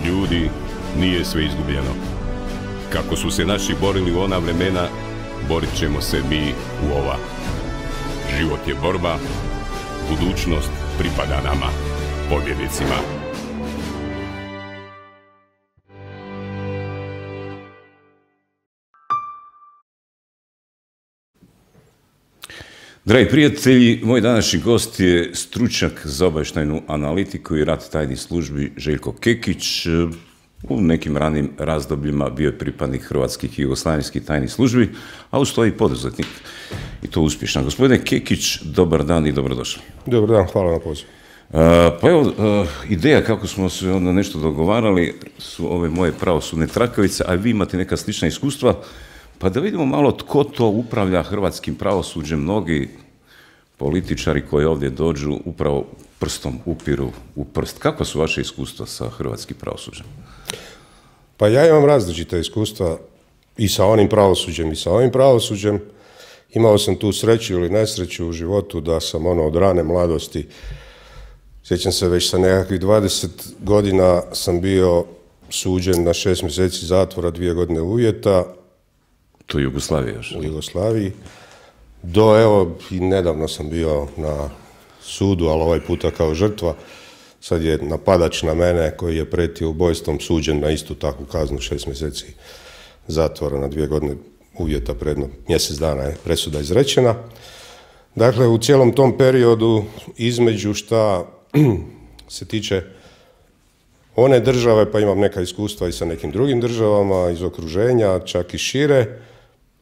Ljudi, nije sve izgubljeno. Kako su se naši borili u ona vremena, borit ćemo se mi u ova. Život je borba, budućnost pripada nama, pobjednicima. Dragi prijatelji, moj današnji gost je stručnjak za obavještajnu analitiku i rad tajnih službi Željko Kekić. U nekim ranim razdobljima bio je pripadnik hrvatskih i jugoslavenskih tajnih službi, a uz to i poduzetnik. I to uspješan. Gospodine Kekić, dobar dan i dobrodošli. Dobar dan, hvala na pozivu. Pa evo, ideja kako smo se onda nešto dogovarali su ove moje pravosudne trakavice, a vi imate neka slična iskustva, pa da vidimo malo tko to upravlja hrvatskim pravosuđem. Mnogi političari koji ovdje dođu upravo prstom upiru u prst. Kakva su vaše iskustva sa hrvatskim pravosuđem? Pa ja imam različita iskustva i sa onim pravosuđem i sa ovim pravosuđem. Imao sam tu sreću ili nesreću u životu da sam od rane mladosti, sjećam se već sa nekakvih 20 godina sam bio suđen na 6 mjeseci zatvora, 2 godine uvjeta. To je Jugoslavija još? U Jugoslaviji. Do, evo, i nedavno sam bio na sudu, ali ovaj puta kao žrtva. Sad je napadač na mene koji je pretio ubojstvom suđen na istu takvu kaznu, 6 mjeseci zatvora na 2 godine uvjeta, predno mjesec dana je presuda izrečena. Dakle, u cijelom tom periodu između šta se tiče one države, pa imam neka iskustva i sa nekim drugim državama iz okruženja, čak i šire,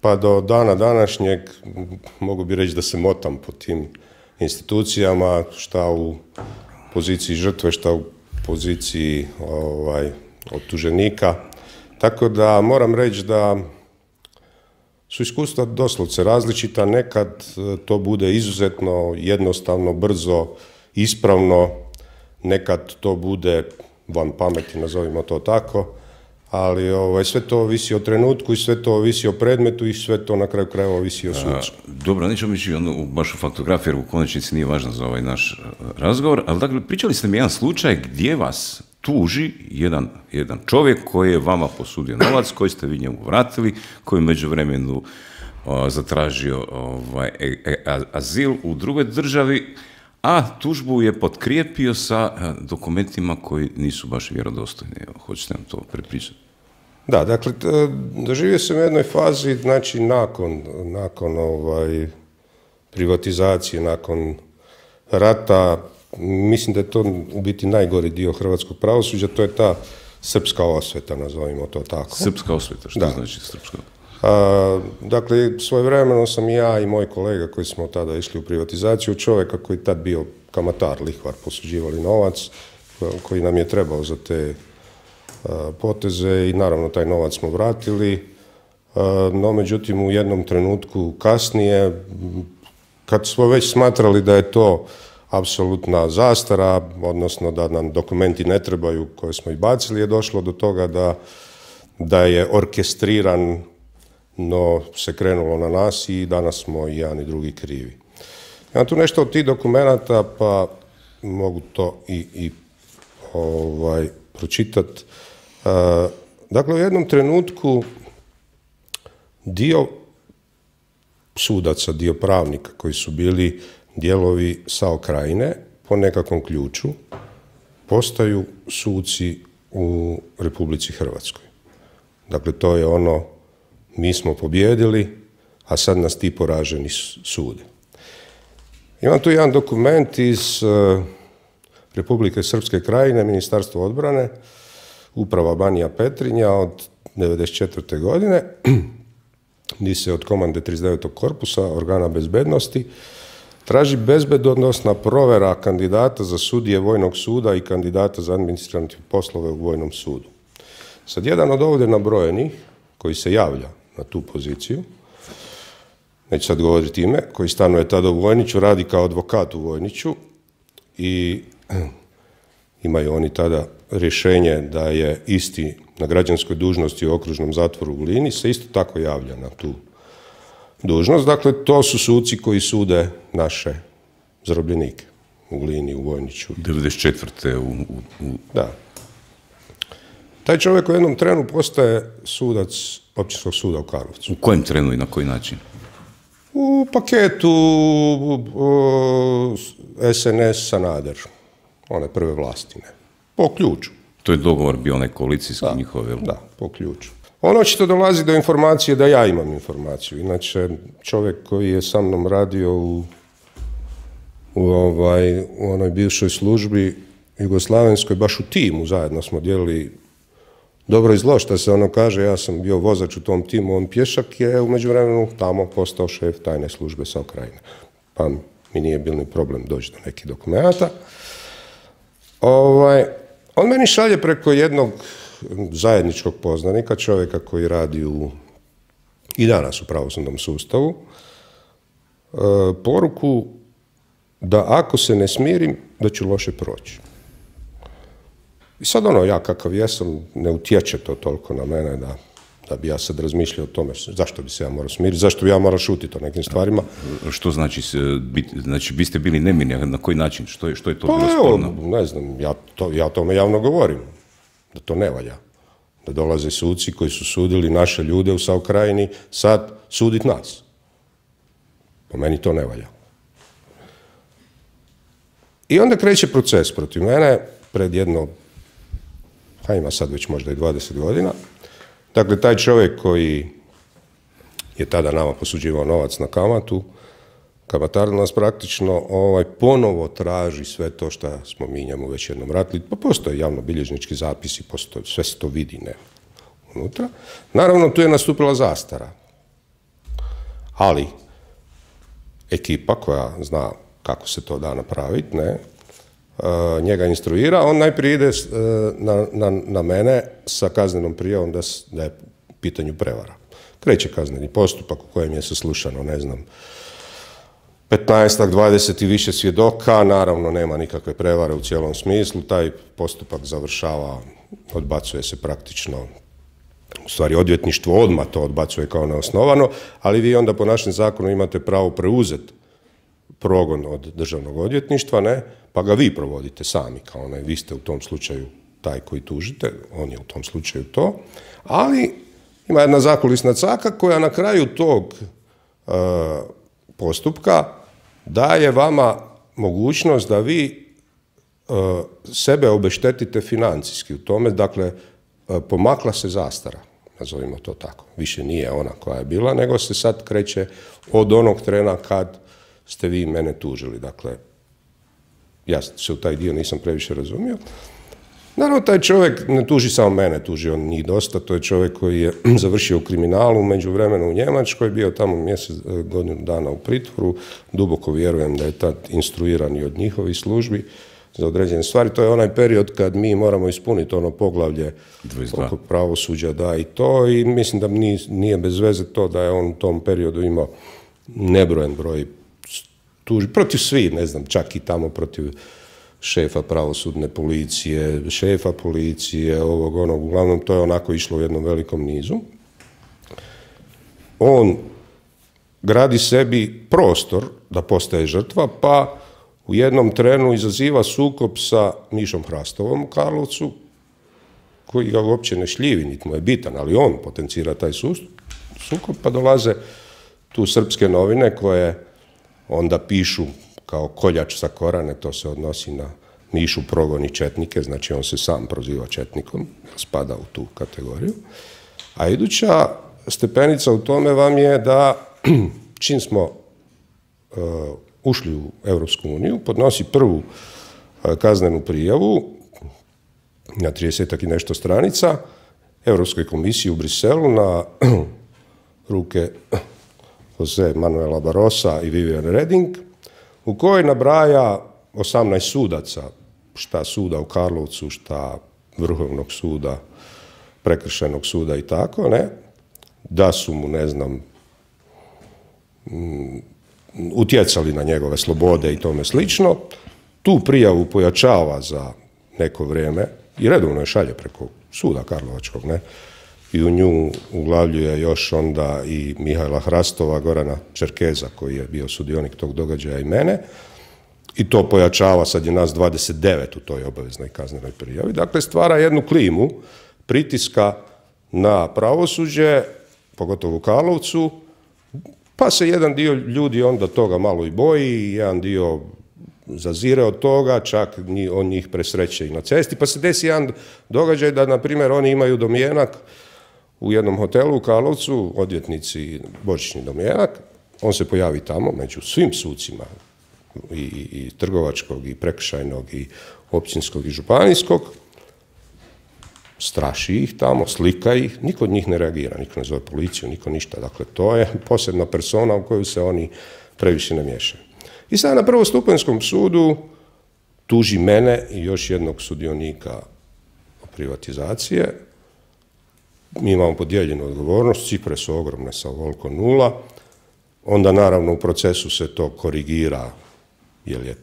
pa do dana današnjeg mogu bi reći da se motam po tim institucijama, šta u poziciji žrtve, šta u poziciji optuženika. Tako da moram reći da su iskustva doslovce različita. Nekad to bude izuzetno jednostavno, brzo, ispravno, nekad to bude van pameti, nazovimo to tako, ali sve to ovisi o trenutku i sve to ovisi o predmetu i sve to na kraju krajeva ovisi o sucu. Dobro, nećemo ići baš u faktografiju, jer u konačnici nije važno za ovaj naš razgovor, ali dakle, pričali ste mi jedan slučaj gdje vas tuži jedan čovjek koji je vama posudio novac, koji ste vi njemu vratili, koji je u međuvremenu zatražio azil u drugoj državi, a tužbu je potkrijepio sa dokumentima koji nisu baš vjerodostojni. Hoćete nam to prepričati? Da, dakle, doživio sam u jednoj fazi, znači nakon privatizacije, nakon rata, mislim da je to u biti najgori dio hrvatskog pravosuđa, to je ta srpska osveta, nazovimo to tako. Srpska osveta, što znači srpska? Dakle, svojevremeno sam i ja i moj kolega koji smo tada išli u privatizaciju, čovjeka koji tad bio kamatar, lihvar, posuđivali novac, koji nam je trebao za te poteze i naravno taj novac smo vratili, no međutim u jednom trenutku kasnije, kad smo već smatrali da je to apsolutna zastara, odnosno da nam dokumenti ne trebaju koje smo i bacili, je došlo do toga da je orkestriran, no se krenulo na nas i danas smo i jedan i drugi krivi. Imam tu nešto od tih dokumenata, pa mogu to i pročitati. Dakle, u jednom trenutku dio sudaca, dio pravnika koji su bili dijelovi SAO Krajine po nekakvom ključu postaju suci u Republici Hrvatskoj. Dakle, to je mi smo pobjedili, a sad nas ti poraženi sude. Imam tu jedan dokument iz Republike Srpske Krajine, Ministarstvo odbrane, uprava Banija Petrinja od 1994. godine, gdje se od komande 39. korpusa, organa bezbednosti, traži bezbednosna provjera kandidata za sudije Vojnog suda i kandidata za administrativne poslove u Vojnom sudu. Sad, jedan od ovdje nabrojenih, koji se javlja na tu poziciju, neću sad govoriti ime, koji stanuje tada u Vojniću, radi kao advokat u Vojniću i imaju oni tada rješenje da je isti na građanskoj dužnosti u okružnom zatvoru u Glini, se isto tako javlja na tu dužnost. Dakle, to su suci koji sude naše zarobljenike. u Glini, u Vojniću. 94. Da. Taj čovjek u jednom trenu postaje sudac Općinskog suda u Karlovcu. U kojem trenu i na koji način? U paketu SNS Sanader, one prve vlasti, ne. Po ključu. To je dogovor bio onaj koalicijski njihov, jel? Da, po ključu. On očito dolazi do informacije da ja imam informaciju. Inače, čovjek koji je sa mnom radio u onoj bivšoj službi jugoslavenskoj, baš u timu zajedno smo dijelili dobro i zlo, što se ono kaže, ja sam bio vozač u tom timu, on pješak, je u međuvremenu tamo postao šef tajne službe SAO Krajine. Pa mi nije bil ni problem doći do nekih dokumenata. On meni šalje preko jednog zajedničkog poznanika, čovjeka koji radi i danas u pravosudnom sustavu, poruku da ako se ne smirim, da ću loše proći. I sad ja kakav jesam, ne utječe to toliko na mene da bi ja sad razmišljao o tome zašto bi se ja morao smiriti, zašto bi ja morao šutiti o nekim stvarima. Što znači, znači biste bili nemirni, na koji način, što je to bilo sporno? Ne znam, ja o tome javno govorim, da to ne valja. Da dolaze suci koji su sudili naše ljude u SAO Krajini, sad sudit nas. Po meni to ne valja. I onda kreće proces protiv mene pred jedno, ima sad već možda i 20 godina. Dakle, taj čovjek koji je tada nama posuđivao novac na kamatu, kamatar nas praktično ponovo traži sve to što smo mi njemu već jednom vratili. Pa postoje javnobilježnički zapisi, sve se to vidi unutra. Naravno, tu je nastupila zastara. Ali, ekipa koja zna kako se to da napraviti, njega instruira, on najprije ide na mene sa kaznenom prijavom da je u pitanju prevara. Kreće kazneni postupak u kojem je saslušano, 15-ak, 20 i više svjedoka, naravno nema nikakve prevare u cijelom smislu, taj postupak završava, odbacuje se praktično, u stvari odvjetništvo odmah to odbacuje kao neosnovano, ali vi onda po našem zakonu imate pravo preuzeti progon od državnog odvjetništva, pa ga vi provodite sami, kao vi ste u tom slučaju taj koji tužite, on je u tom slučaju to, ali ima jedna zakulisna caka koja na kraju tog postupka daje vama mogućnost da vi sebe obeštetite financijski u tome, dakle, pomakla se zastara, nazovimo to tako. Više nije ona koja je bila, nego se sad kreće od onog trena kad ste vi mene tužili. Dakle, ja se u taj dio nisam previše razumio. Naravno, taj čovjek ne tuži samo mene, tuži on njih dosta. To je čovjek koji je završio u kriminalu, u međuvremenu u Njemačkoj, bio tamo godinu dana u pritvoru. Duboko vjerujem da je tad instruiran i od njihovih službi za određene stvari. To je onaj period kad mi moramo ispuniti ono poglavlje oko pravosuđa, da i to. I mislim da nije bez veze to da je on u tom periodu imao nebrojen broj tuži. Protiv svih, ne znam, čak i tamo protiv šefa pravosudne policije, šefa policije, ovog, onog, uglavnom to je onako išlo u jednom velikom nizu. On gradi sebi prostor da postaje žrtva, pa u jednom trenu izaziva sukob sa Mišom Hrastovom u Karlovcu, koji ga uopće ne šljivi, niti mu je bitan, ali on potencira taj sukob, pa dolaze tu srpske novine koje onda pišu kao koljač sa Korane, to se odnosi na Mišu progoni četnike, znači on se sam proziva četnikom, spada u tu kategoriju. A iduća stepenica u tome vam je da čim smo ušli u Europsku uniju, podnosi prvu kaznenu prijavu na 30 i nešto stranica Europskoj komisiji u Briselu na ruke Jose Manuela Barrosa i Viviane Reding, u kojoj nabraja 18 sudaca, šta suda u Karlovcu, šta Vrhovnog suda, Prekršajnog suda i tako, da su mu, ne znam, utjecali na njegove slobode i tome slično. Tu prijavu pojačava za neko vrijeme i redovno je šalje preko suda Karlovačkog, i u nju uglavljuje još onda i Mihajla Hrastova, Gorana Čerkeza, koji je bio sudionik tog događaja, i mene. i to pojačava, sad je nas 29 u toj obaveznoj kaznenoj prijavi. Dakle, stvara jednu klimu pritiska na pravosuđe, pogotovo u Karlovcu, pa se jedan dio ljudi onda toga malo i boji, jedan dio zazire od toga, čak on njih presreće i na cesti, pa se desi jedan događaj da, na primjer, oni imaju domjenak u jednom hotelu u Karlovcu, odvjetnici božićni domjenak, on se pojavi tamo među svim sucima, i trgovačkog, i prekršajnog, i općinskog, i županijskog, straši ih tamo, slika ih, niko od njih ne reagira, niko ne zove policiju, niko ništa. Dakle, to je posebna persona u koju se oni previše ne miješaju. I sad na prvostupanjskom sudu tuži mene i još jednog sudionika privatizacije. Mi imamo podijeljenu odgovornost, cifre su ogromne sa ovoliko nula. Onda naravno u procesu se to korigira, jer je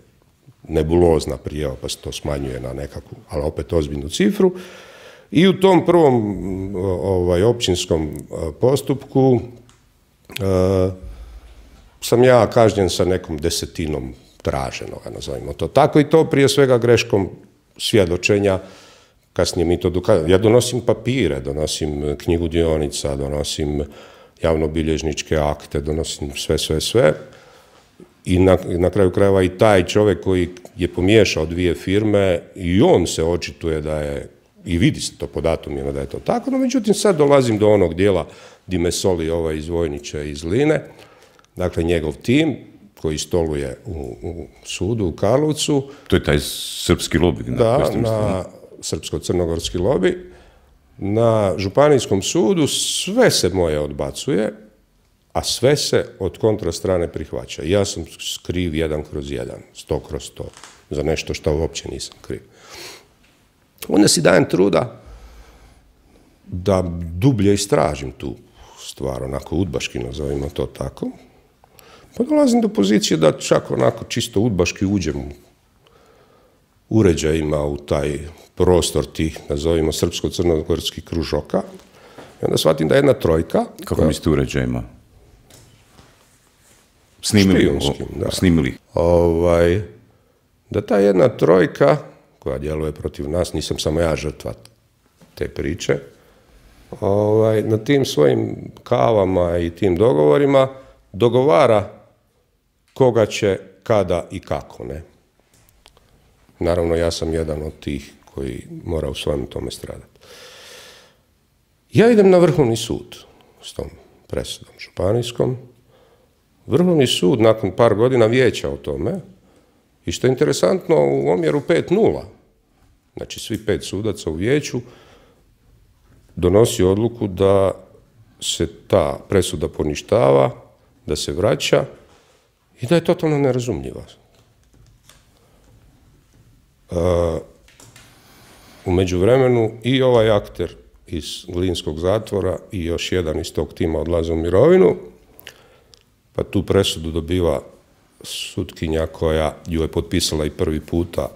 nebulozna prijava pa se to smanjuje na nekakvu, ali opet ozbiljnu cifru. I u tom prvom općinskom postupku sam ja kažnjen sa nekom 10% traženoga, nazovimo to tako, i to prije svega greškom svjedočenja. Kasnije mi to dokazuje. Ja donosim papire, donosim knjigu dionica, donosim javnobilježničke akte, donosim sve. I na kraju krajeva i taj čovjek koji je pomiješao dvije firme, i on se očituje da je, i vidi se to po datumima da je to tako, no međutim sad dolazim do onog dijela di me soli ovaj iz Vojnića iz Line, dakle njegov tim koji stoluje u sudu u Karlovcu. To je taj srpski lobi. Da, na srpsko-crnogorski lobi. Na županijskom sudu sve se moje odbacuje, a sve se od kontrastrane prihvaća. Ja sam kriv 1/1, 100/100, za nešto što uopće nisam kriv. Onda si dajem truda da dublje istražim tu stvar, onako udbaški, nazovimo to tako. Pa dolazim do pozicije da čak onako čisto udbaški uđem uređajima u taj prostor tih, nazovimo, srpsko-crnogorskih kružoka. I onda shvatim da jedna trojka... Kako mislite uređajima? Snimili. Da ta jedna trojka koja djeluje protiv nas, nisam samo ja žrtva te priče, na tim svojim kavama i tim dogovorima dogovara koga će, kada i kako, ne. Naravno, ja sam jedan od tih koji mora u svojom tome stradati. Ja idem na Vrhovni sud s tom presudom županijskom. Vrhovni sud nakon par godina vijeća o tome, i što je interesantno, u omjeru 5:0, znači svi 5 sudaca u vijeću, donosi odluku da se ta presuda poništava, da se vraća i da je totalno nerazumljiva. U međuvremenu i ovaj akter iz Glinskog zatvora i još jedan iz tog tima odlaze u mirovinu, pa tu presudu dobiva sutkinja koja ju je potpisala i prvi puta,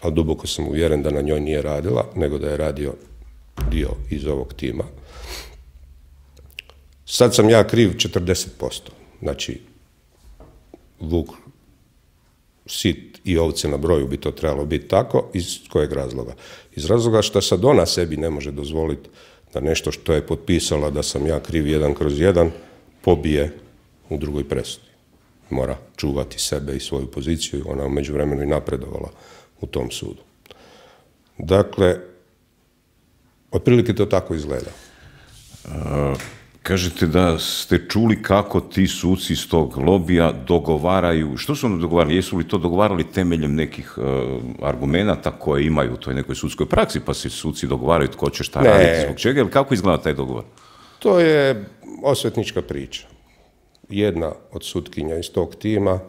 a duboko sam uvjeren da na njoj nije radila, nego da je radio dio iz ovog tima. Sad sam ja kriv 40%. Znači, vuk, sit i ovce na broju bi to trebalo biti tako. Iz kojeg razloga? Iz razloga što sad ona sebi ne može dozvoliti da nešto što je potpisala da sam ja kriv 1/1 pobije u drugoj presudi. Mora čuvati sebe i svoju poziciju, ona u međuvremenu i napredovala u tom sudu. Dakle, otprilike to tako izgleda. Kažete da ste čuli kako ti suci iz tog lobija dogovaraju, što su oni dogovarali? Jesu li to dogovarali temeljem nekih argumenata koje imaju u toj nekoj sudskoj praksi, pa se suci dogovaraju tko će šta raditi, zbog čega, ili kako izgleda taj dogovor? To je osvetnička priča. Jedna od sutkinja iz tog tima,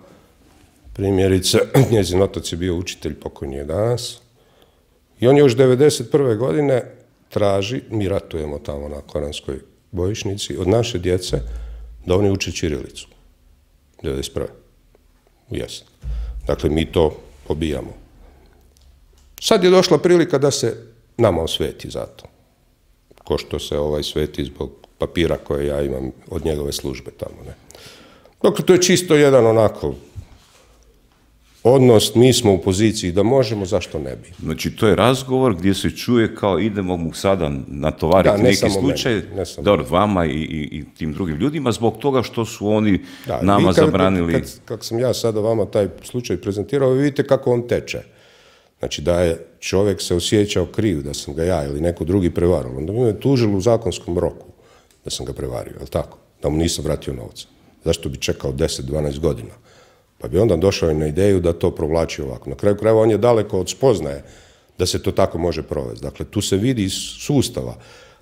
primjerice, njezin otac je bio učitelj, pokojni je danas, i on još 1991. godine traži, mi ratujemo tamo na Koranskoj bojišnici, od naše djece da oni uče ćirilicu. 1991. u jesen. Dakle, mi to pobijamo. Sad je došla prilika da se nama osveti za to. Ko što se sveti zbog papira koje ja imam od njegove službe tamo, ne. Dakle, to je čisto jedan onako odnos, mi smo u poziciji da možemo, zašto ne bi? Znači, to je razgovor gdje se čuje kao idemo mu sada natovariti neki slučaj, dobro, vama i tim drugim ljudima, zbog toga što su oni nama zabranili. Kako sam ja sada vama taj slučaj prezentirao, vi vidite kako on teče. Znači, da je čovjek se osjećao kriv, da sam ga ja ili neko drugi prevarilo, onda bi me tužili u zakonskom roku da sam ga prevario, je li tako? Da mu nisam vratio novca. Zašto bi čekao 10-12 godina? Pa bi onda došao i na ideju da to provlači ovako. Na kraju krajeva on je daleko od spoznaje da se to tako može provesti. Dakle, tu se vidi iz sustava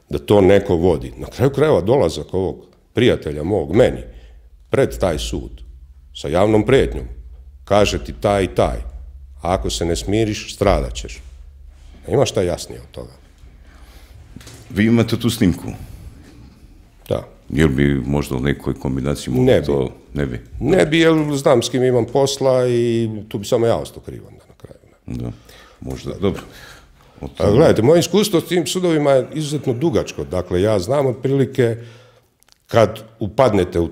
da to neko vodi. Na kraju krajeva dolazak ovog prijatelja mog, meni, pred taj sud, sa javnom prijetnjom, kaže ti taj i taj, a ako se ne smiriš, stradat ćeš. Ima šta jasnije od toga. Vi imate tu snimku? Da. Jel bi možda u nekoj kombinaciji to ne bi? Ne bi, jer znam s kim imam posla i tu bi samo ja ostao kriv onda na kraju. Da, možda, dobro. Gledajte, moje iskustvo s tim sudovima je izuzetno dugačko. Dakle, ja znam otprilike kad upadnete u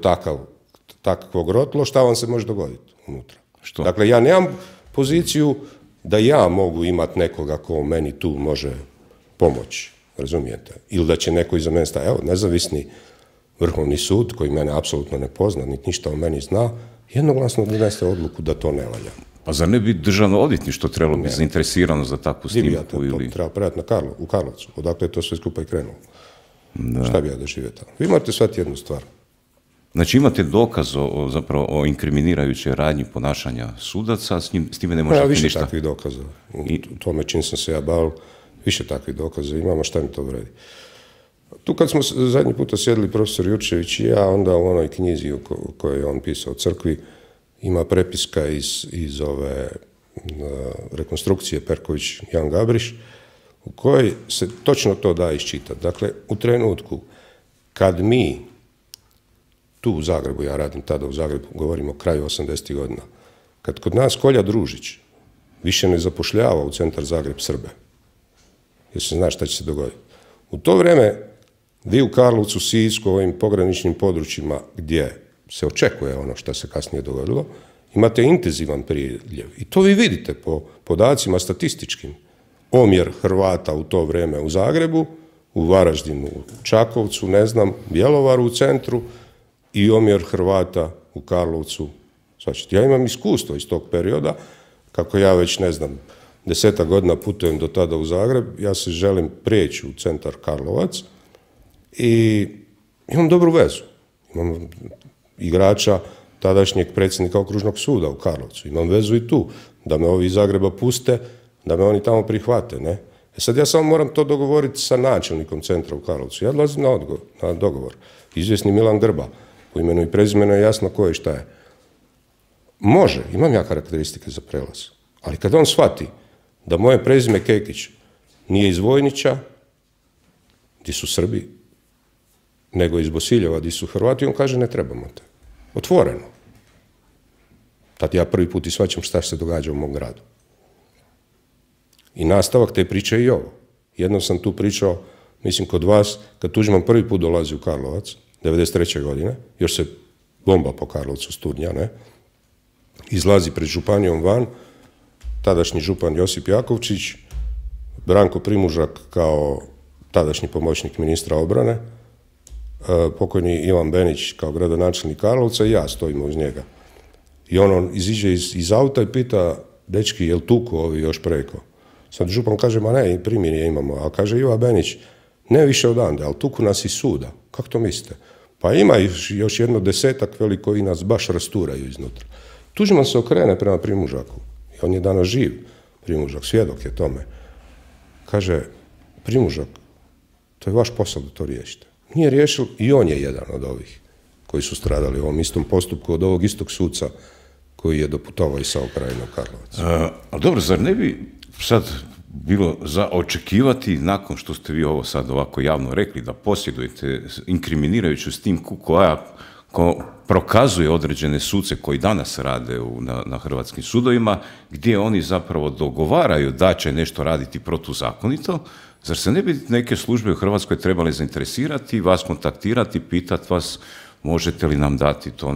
takvo grotlo, šta vam se može dogoditi unutra. Što? Dakle, ja nemam poziciju da ja mogu imati nekoga ko meni tu može pomoći, razumijete? Ili da će neko iza mene stajati. Evo, nezavisni Vrhovni sud, koji mene apsolutno ne pozna, niti ništa o meni zna, jednoglasno donese odluku da to ne valja. Pa zar ne bi državno odvjetništvo trebalo biti zainteresirano za takvu snimku? To treba predati u Karlovcu, odakle je to sve skupa i krenulo. Da. Šta bi ja doživio tamo? Vi morate shvatiti jednu stvar. Znači imate dokaz o inkriminirajućoj radnji ponašanja sudaca, s time ne možete ništa? Više takvih dokaza. U tome čim sam se ja bavio, više takvih dokaza imamo, šta mi to vredi. Tu kad smo zadnji puta sjedili profesor Jurčević i ja, onda u onoj knjizi u kojoj je on pisao o crkvi, ima prepiska iz ove rekonstrukcije Perković Jan Gabriš, u kojoj se točno to da iščitati. Dakle, u trenutku kad mi, tu u Zagrebu, ja radim tada u Zagrebu, govorimo o kraju 80. godina, kad kod nas Kolja Družić više ne zapošljava u centar Zagreb Srbe, jer se zna šta će se dogoditi. U to vrijeme vi u Karlovcu, Sisku, ovim pograničnim područjima gdje se očekuje ono što se kasnije dogodilo, imate intenzivan priljev. I to vi vidite po podacima statističkim. Omjer Hrvata u to vrijeme u Zagrebu, u Varaždinu, u Čakovcu, ne znam, Bjelovaru u centru i omjer Hrvata u Karlovcu. Znači, ja imam iskustvo iz tog perioda, kako ja već, ne znam, 10 godina putujem do tada u Zagreb, ja se želim prijeći u centar Karlovac i imam dobru vezu. Imam igrača tadašnjeg predsjednika okružnog suda u Karlovcu. Imam vezu i tu, da me ovi iz Zagreba puste, da me oni tamo prihvate, ne? Sad ja samo moram to dogovoriti sa načelnikom centra u Karlovcu. Ja dolazim na dogovor. Izvjesni Milan Grba, po imenu i prezimenu je jasno ko je šta je. Može, imam ja karakteristike za prelaz, ali kad on shvati da moje prezime Kekić nije iz Vojnića, gdje su Srbi, nego iz Bosiljeva, gdje su Hrvati, on kaže ne trebamo te. Otvoreno. Tad ja prvi put i shvaćam šta se događa u mom gradu. I nastavak te priče je i ovo. Jednom sam tu pričao, mislim kod vas, kad Tuđman prvi put dolazi u Karlovac, 1993. godine, još se bomba po Karlovcu Studnja, ne? Izlazi pred županijom van, tadašnji župan Josip Jakovčić, Branko Primužak kao tadašnji pomoćnik ministra obrane, pokojni Ivan Benić kao gradonačelnik Karlovca i ja stojimo uz njega. I on iziđe iz auta i pita, dečki, jel tuku ovi još preko? Sad župan kaže, ma ne, primirje imamo. A kaže Ivan Benić, ne više odande, ali tuku nas iz suda. Kako to mislite? Pa ima još jedno 10-ak veli koji nas baš rasturaju iznutra. Tuđman se okrene prema Primužaku. I on je danas živ, Primužak, svjedok je tome. Kaže, Primužak, to je vaš posao da to riješite. Nije riješil i on je jedan od ovih koji su stradali u ovom istom postupku od ovog istog suca koji je doputovao iz Krajine u Karlovac. Ali dobro, zar ne bi sad bilo za očekivati, nakon što ste vi ovo sad ovako javno rekli, da posjedujete inkriminirajuću snimku koja prokazuje određene suce koji danas rade na hrvatskim sudovima, gdje oni zapravo dogovaraju da će nešto raditi protuzakonito, zar se ne bi neke službe u Hrvatskoj trebale zainteresirati, vas kontaktirati, pitati vas možete li nam dati to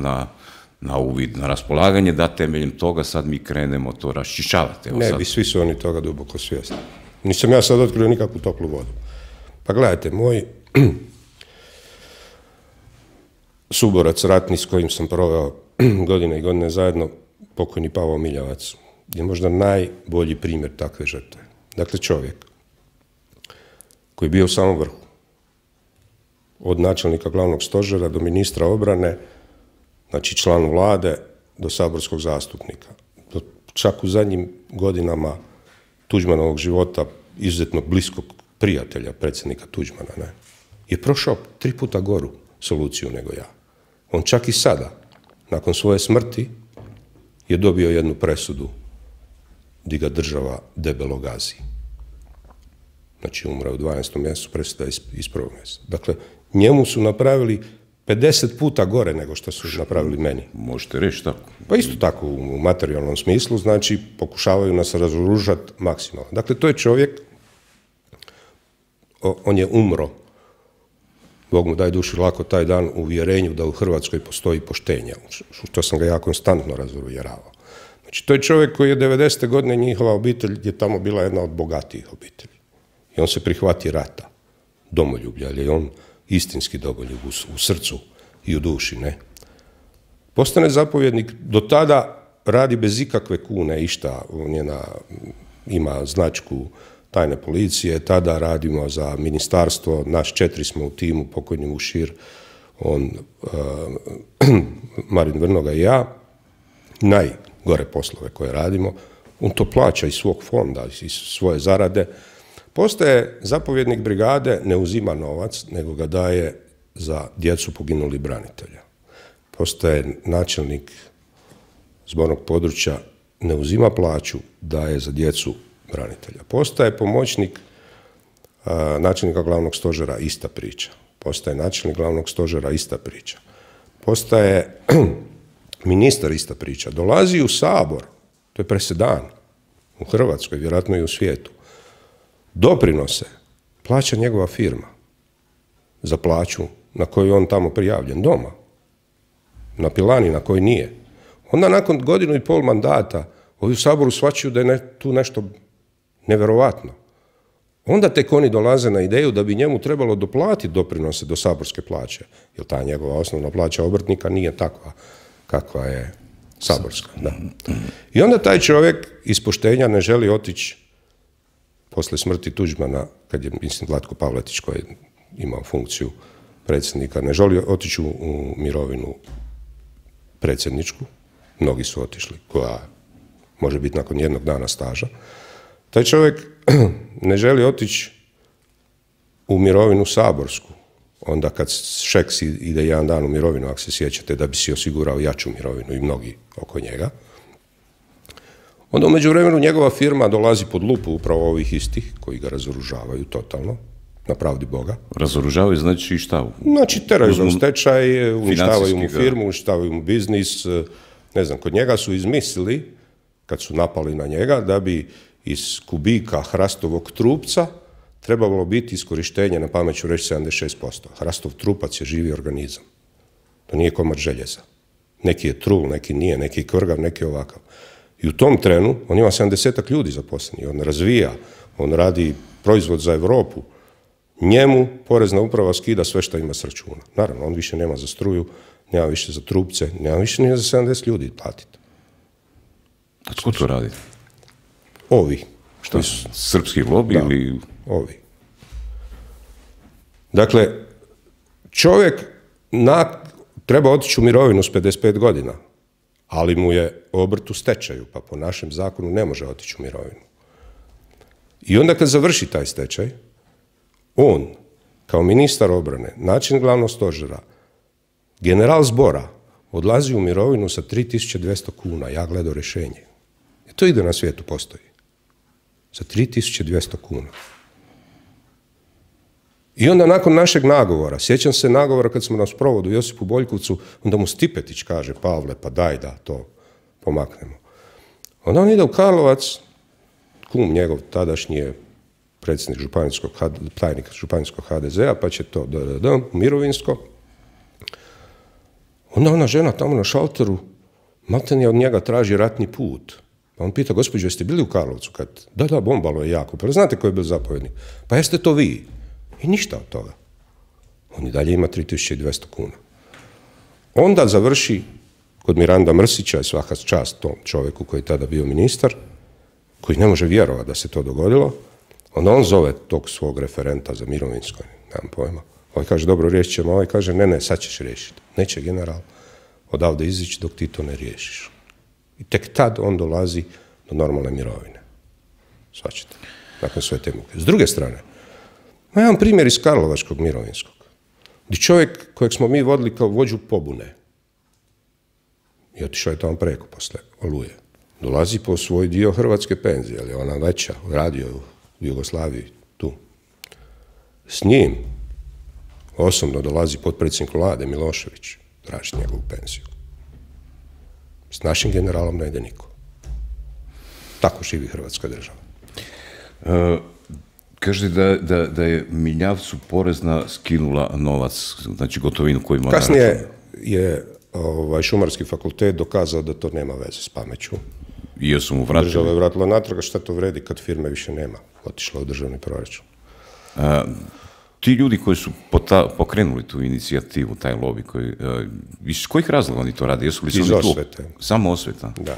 na uvid, na raspolaganje, da temeljem toga sad mi krenemo to raščišćavati. Ne bi, svi su oni toga duboko svjesni. Nisam ja sad otkrio nikakvu toplu vodu. Pa gledajte, moj suborac ratni s kojim sam proveo godine i godine zajedno, pokojni Pavao Miljavac, je možda najbolji primjer takve žrtve. Dakle, čovjek koji je bio u samom vrhu, od načelnika glavnog stožera do ministra obrane, znači član vlade, do saborskog zastupnika. Čak u zadnjim godinama Tuđmanovog života, izuzetno bliskog prijatelja predsjednika Tuđmana, je prošao 3 puta goru soluciju nego ja. On čak i sada, nakon svoje smrti, je dobio jednu presudu gdje ga država debelo gazi. Znači, umre u 12. mjesecu, presuda iz 1. mjeseca. Dakle, njemu su napravili 50 puta gore nego što su napravili meni. Možete reći tako? Pa isto tako u materijalnom smislu, znači pokušavaju nas razoružati maksimalno. Dakle, to je čovjek, on je umro, Bog mu daj duši lako taj dan, u uvjerenju da u Hrvatskoj postoji poštenje, što sam ga ja konstantno razuvjeravao. Znači, to je čovjek koji je 90. godine, njihova obitelj je tamo bila jedna od bogatijih obitelji. I on se prihvati rata, domoljublja, jer je on istinski domoljub u srcu i u duši, ne. Postane zapovjednik, do tada radi bez ikakve kune, išta, ima značku tajne policije, tada radimo za ministarstvo, naš 4 smo u timu, pokojni Mušir, on, Marin Vrnoga i ja, najgore poslove koje radimo, on to plaća iz svog fonda, iz svoje zarade. Postaje zapovjednik brigade, ne uzima novac, nego ga daje za djecu poginulih branitelja. Postaje načelnik zbornog područja, ne uzima plaću, daje za djecu branitelja. Postaje pomoćnik načelnika glavnog stožera, ista priča. Postaje načelnik glavnog stožera, ista priča. Postaje ministar, ista priča. Dolazi u Sabor, to je presedan u Hrvatskoj, vjerojatno i u svijetu. Doprinose plaća njegova firma za plaću na koju je on tamo prijavljen doma, na pilani na kojoj nije. Onda nakon 1,5 godine mandata ovi u Saboru shvaćaju da je tu nešto nevjerovatno. Onda tek oni dolaze na ideju da bi njemu trebalo doplatiti doprinose do saborske plaće, jer ta njegova osnovna plaća obrtnika nije takva kakva je saborska. Da. I onda taj čovjek iz poštenja ne želi otići poslije smrti Tuđmana, kad je, mislim, Vlatko Pavletić koji je imao funkciju predsjednika, ne želi otići u mirovinu predsjedničku, mnogi su otišli, koja može biti nakon 1 dana staža. Taj čovjek ne želi otići u mirovinu saborsku, onda kad Šeks ide 1 dan u mirovinu, ako se sjećate, da bi si osigurao jaču mirovinu i mnogi oko njega. Onda u međuvremenu njegova firma dolazi pod lupu upravo ovih istih koji ga razoružavaju totalno, na pravdi Boga. Razoružavaju znači šta? Znači teraju ga u stečaj, uništavaju mu firmu, uništavaju mu biznis. Ne znam, kod njega su izmislili, kad su napali na njega, da bi iz kubika hrastovog trupca trebalo biti iskorištenje, na pamet ću reći, 76%. Hrastov trupac je živi organizam. To nije komad željeza. Neki je trul, neki nije, neki je kvrgav, neki je ovakav. I u tom trenu on ima 70 ljudi zaposleni, on razvija, on radi proizvod za Europu. Njemu porezna uprava skida sve što ima s računa. Naravno, on više nema za struju, nema više za trupce, nema više ni za 70 ljudi platiti. A tko to radi? Ovi. Što su srpski lobby ili... Ovi. Dakle, čovjek treba otići u mirovinu s 55 godina, ali mu je obrt u stečaju, pa po našem zakonu ne može otići u mirovinu. I onda kad završi taj stečaj, on, kao ministar obrane, načelnik glavnog stožera, general zbora, odlazi u mirovinu sa 3200 kuna. Ja gledao rješenje. I to ide na svijetu, postoji. Sa 3200 kuna. I onda nakon našeg nagovora, sjećam se nagovora kad smo na sprovodu Josipu Boljkovcu, onda mu Stipetić kaže, Pavle, pa daj da to pomaknemo. Onda on ide u Karlovac, kum njegov tadašnji je predsjednik tajnik županijskog HDZ-a, pa će to mirovinsko. Onda ona žena tamo na šalteru maltene od njega traži ratni put. Pa on pita, gospođo, jeste bili u Karlovcu? Da, bombalo je jako. Pa znate ko je bio zapovjednik? Pa jeste to vi? I ništa od toga. On i dalje ima 3200 kuna. Onda završi kod Miranda Mrsića, i svaka čast tom čovjeku koji je tada bio ministar, koji ne može vjerovati da se to dogodilo. Onda on zove tog svog referenta za mirovinsko, nemam pojma. Ovaj kaže, dobro, riješit ćemo. Ovaj kaže, ne, sad ćeš riješiti. Neće general odavde izići dok ti to ne riješiš. I tek tad on dolazi do normalne mirovine. Svačite. Nakon sve te muke. S druge strane, ima jedan primjer iz Karlovačkog mirovinskog, gdje čovjek kojeg smo mi vodili kao vođu pobune, i otišao je tamo preko posle Oluje, dolazi po svoj dio hrvatske penzije, ali ona veća, radio u Jugoslaviji, tu. S njim osobno dolazi potpredsjednik vlade Milošević, tražiti njegovu penziju. S našim generalom ne ide niko. Tako živi Hrvatska država. Kaže da je Miljavcu porezna skinula novac, znači gotovinu koju ima. Kasnije je Šumarski fakultet dokazao da to nema veze s pameću. I jesu mu vratili? Država je vratila natrag, šta to vredi kad firme više nema? Otišla u državni proračun. Ti ljudi koji su pokrenuli tu inicijativu, taj lobby, iz kojih razloga oni to rade? Jesu li iz osvete. Samo osveta? Da.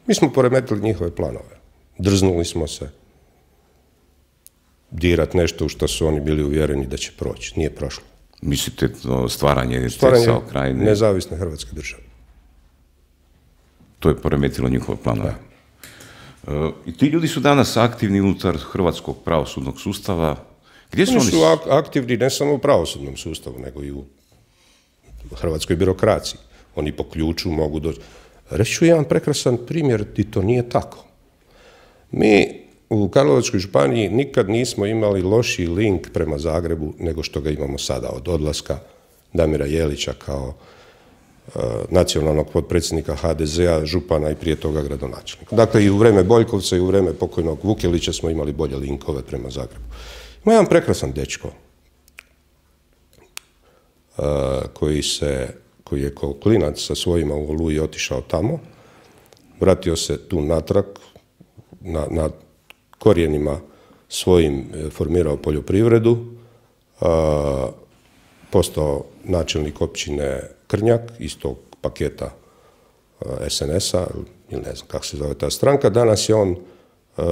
Mi smo poremetili njihove planove. Drznuli smo se dirat nešto u što su oni bili uvjereni da će proći. Nije prošlo. Mislite stvaranje SAO Krajine? Nezavisne Hrvatske države. To je poremetilo njihove planove. I ti ljudi su danas aktivni unutar hrvatskog pravosudnog sustava. Gdje su oni su aktivni ne samo u pravosudnom sustavu, nego i u hrvatskoj birokraciji. Oni po ključu mogu doći. Reći ću jedan prekrasan primjer i to nije tako. Mi u Karlovačkoj županiji nikad nismo imali lošiji link prema Zagrebu nego što ga imamo sada od odlaska Damira Jelića kao nacionalnog potpredsjednika HDZ-a, župana i prije toga gradonačelnika. Dakle, i u vreme Boljkovca i u vreme pokojnog Vukelića smo imali bolje linkove prema Zagrebu. Ima jedan prekrasan dečko koji je kao klinac sa svojima u Oluji otišao tamo, vratio se tu natrag, na korijenima svojim formirao poljoprivredu, postao načelnik općine Krnjak iz tog paketa SNS-a, ili ne znam kako se zove ta stranka, danas je on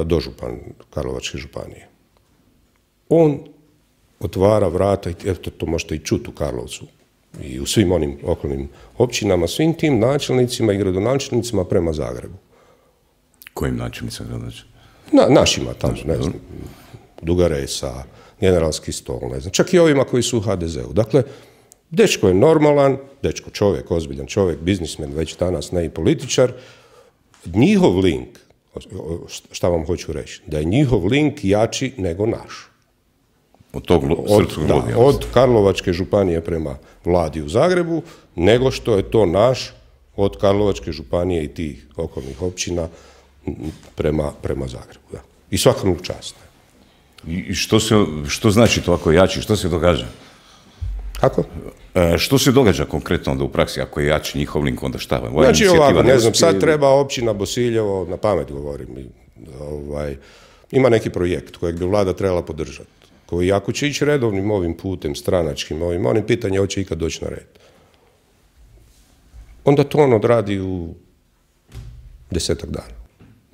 dožupan Karlovačke županije. On otvara vrata, eto to možete i čuti u Karlovcu i u svim onim okolnim općinama, svim tim načelnicima i gradonačelnicima prema Zagrebu. Kojim načelnicima gradonačelnicima? Našima tamo, ne znam, Dugaresa, Generalski stol, ne znam, čak i ovima koji su u HDZ-u. Dakle, dečko je normalan, dečko čovjek, ozbiljan čovjek, biznismen, već danas ne i političar. Njihov link, šta vam hoću reći, da je njihov link jači nego naš. Od Karlovačke županije prema vladi u Zagrebu, nego što je to naš od Karlovačke županije i tih okolnih općina prema Zagrebu. Da. I svakom čast. I što znači to ako je jači? Što se događa? Kako? Što se događa konkretno onda u praksi ako je jači njihov link, onda šta? Znači ovako, ne znam, sad treba općina Bosiljevo, na pamet govorim, ima neki projekt kojeg bi vlada trebala podržati, koji ako će ići redovnim ovim putem, stranačkim, onim pitanje hoće ikad doći na red. Onda to on odradi u 10 dana.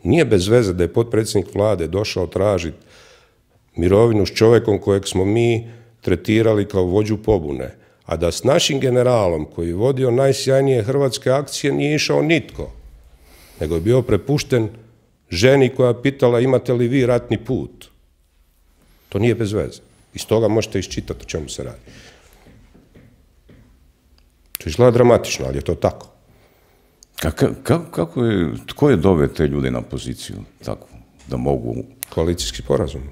Nije bez veze da je potpredsjednik vlade došao tražiti mirovinu s čovjekom kojeg smo mi tretirali kao vođu pobune, a da s našim generalom koji je vodio najsjajnije hrvatske akcije nije išao nitko, nego je bio prepušten ženi koja je pitala imate li vi ratni put. To nije bez veze. Iz toga možete iščitati o čemu se radi. To izgleda dramatično, ali je to tako. Tko je doveo te ljude na poziciju takvu, da mogu... Koalicijski sporazum.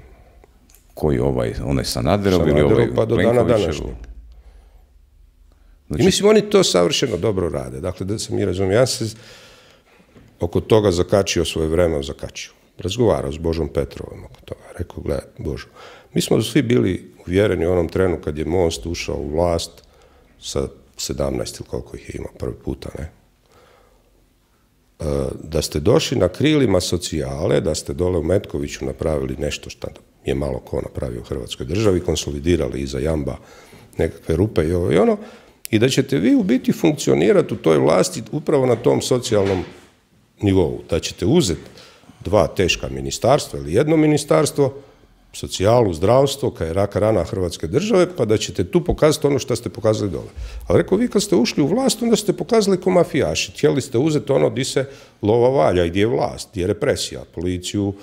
Koji onaj Sanaderov ili ovaj pa do dana današnjeg. Znači... I mislim, oni to savršeno dobro rade. Dakle, da se mi razumijem, ja se oko toga zakačio svoje vreme, razgovarao s Božom Petrovom oko toga. Rekao, gledaj, Božo, mi smo svi bili uvjereni u onom trenu kad je Most ušao u vlast sa 17 ili koliko ih je imao prvi puta, ne? da ste došli na krilima socijale, da ste dole u Metkoviću napravili nešto što je malo ko napravio u Hrvatskoj državi, konsolidirali iza jamba nekakve rupe i ovo i ono, i da ćete vi u biti funkcionirati u toj vlasti upravo na tom socijalnom nivou. Da ćete uzeti dva teška ministarstva ili jedno ministarstvo, socijalu, zdravstvo, kaj je raka rana Hrvatske države, pa da ćete tu pokazati ono što ste pokazali dole. Ali rekao, vi kad ste ušli u vlast, onda ste pokazali ko mafijaši. Htjeli ste uzeti ono di se lova valja i gdje je vlast, gdje je represija, policiju,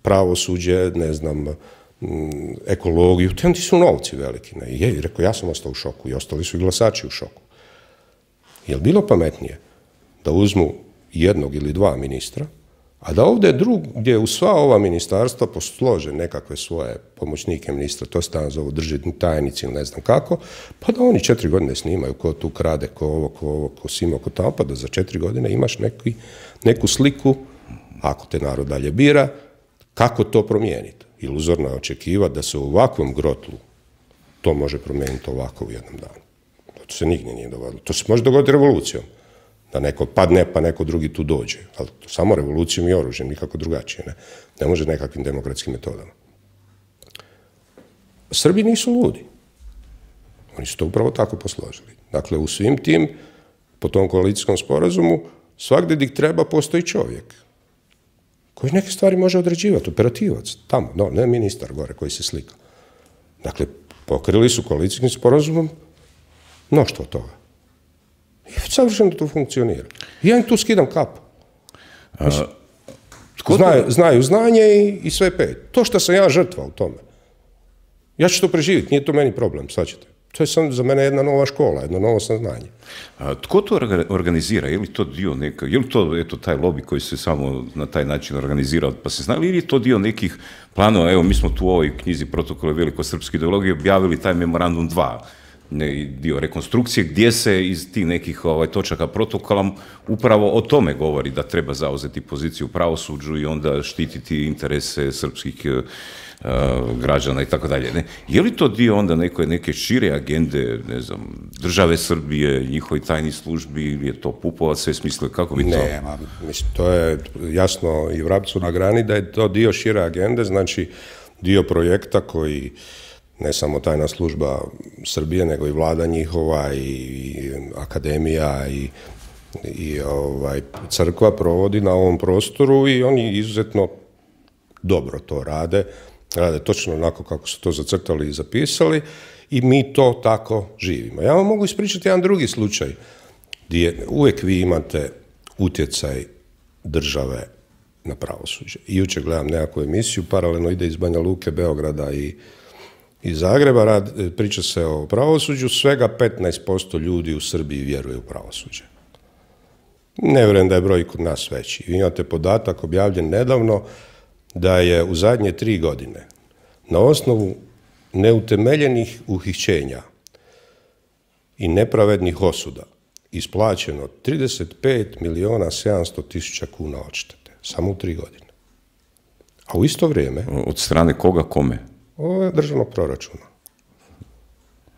pravosuđe, ne znam, ekologiju, ti su novci veliki. Ne? I rekao, ja sam ostao u šoku i ostali su i glasači u šoku. Je li bilo pametnije da uzmu jednog ili dva ministra, a da ovdje gdje u sva ova ministarstva poslože nekakve svoje pomoćnike ministra, to se tamo zovu državni tajnici ili ne znam kako, pa da oni 4 godine snimaju ko tu krade, ko ovo, ko simo, ko tamo, pa da za 4 godine imaš neku sliku, ako te narod dalje bira, kako to promijeniti. Iluzorno je očekivati da se u ovakvom grotlu to može promijeniti ovako u jednom danu. To se nigdje nije dogodilo. To se može dogoditi revolucijom. Da neko padne, pa neko drugi tu dođe. Ali to samo revolucijom i oružjem, nikako drugačije. Ne može nekakvim demokratskim metodama. Srbi nisu ludi. Oni su to upravo tako posložili. Dakle, u svim tim, po tom koalicijskom sporazumu, svagdje gdje treba postoji čovjek koji neke stvari može određivati, operativac, tamo, no, ne ministar gore koji se slika. Dakle, pokrili su koalicijskim sporazumom mnoštvo toga. I savršeno to funkcionira. Ja im tu skidam kapu. Znaju znanje i sve pet. To što sam ja žrtva u tome. Ja ću to preživjeti, nije to meni problem, shvaćate. To je sam za mene jedna nova škola, jedno novo saznanje. Tko to organizira? Je li to dio neka, je li to eto, taj lobby koji se samo na taj način organizirao pa se zna, ili je to dio nekih planova? Evo, mi smo tu u ovoj knjizi Protokole velikosrpske ideologije objavili taj memorandum 2, dio rekonstrukcije, gdje se iz tih nekih točaka protokola upravo o tome govori da treba zauzeti poziciju u pravosuđu i onda štititi interese srpskih građana i tako dalje. Je li to dio onda neke šire agende, ne znam, države Srbije, njihovi tajni službi, ili je to Pupovac sve smislio, kako bi to? Ne, mislim, to je jasno i vrapcu na grani da je to dio šire agende, znači dio projekta koji ne samo tajna služba Srbije, nego i vlada njihova i akademija i crkva provodi na ovom prostoru i oni izuzetno dobro to rade točno onako kako su to zacrtali i zapisali i mi to tako živimo. Ja vam mogu ispričati jedan drugi slučaj gdje uvijek vi imate utjecaj države na pravosuđe. I jučer gledam nekakvu emisiju, paralelno ide iz Banja Luke, Beograda i Zagreba, priča se o pravosuđu, svega 15% ljudi u Srbiji vjeruje u pravosuđe. Ne vjerujem da je broj kod nas veći. Vi imate podatak objavljen nedavno da je u zadnje 3 godine na osnovu neutemeljenih uhićenja i nepravednih osuda isplaćeno 35.700.000 kuna odštete. Samo u 3 godine. A u isto vrijeme... Od strane koga, kome? Ovo je državnog proračuna.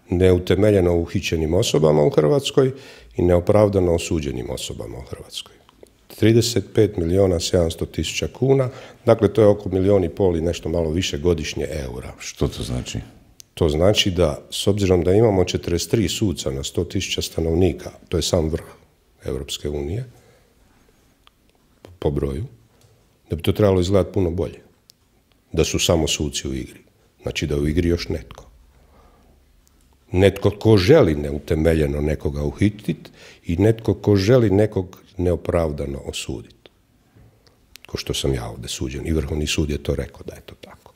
Neutemeljeno uhićenim osobama u Hrvatskoj i neopravdano osuđenim osobama u Hrvatskoj. 35.700.000 kuna, dakle to je oko 1,5 milijuna i nešto malo više godišnje eura. Što to znači? To znači da, s obzirom da imamo 43 suca na 100.000 stanovnika, to je sam vrh Europske unije, po broju, da bi to trebalo izgledati puno bolje. Da su samo suci u igri. Znači da je u igri još netko. Netko ko želi neutemeljeno nekoga uhititi i netko ko želi nekog neopravdano osuditi. Ko što sam ja ovdje suđen. I Vrhovni sud je to rekao da je to tako.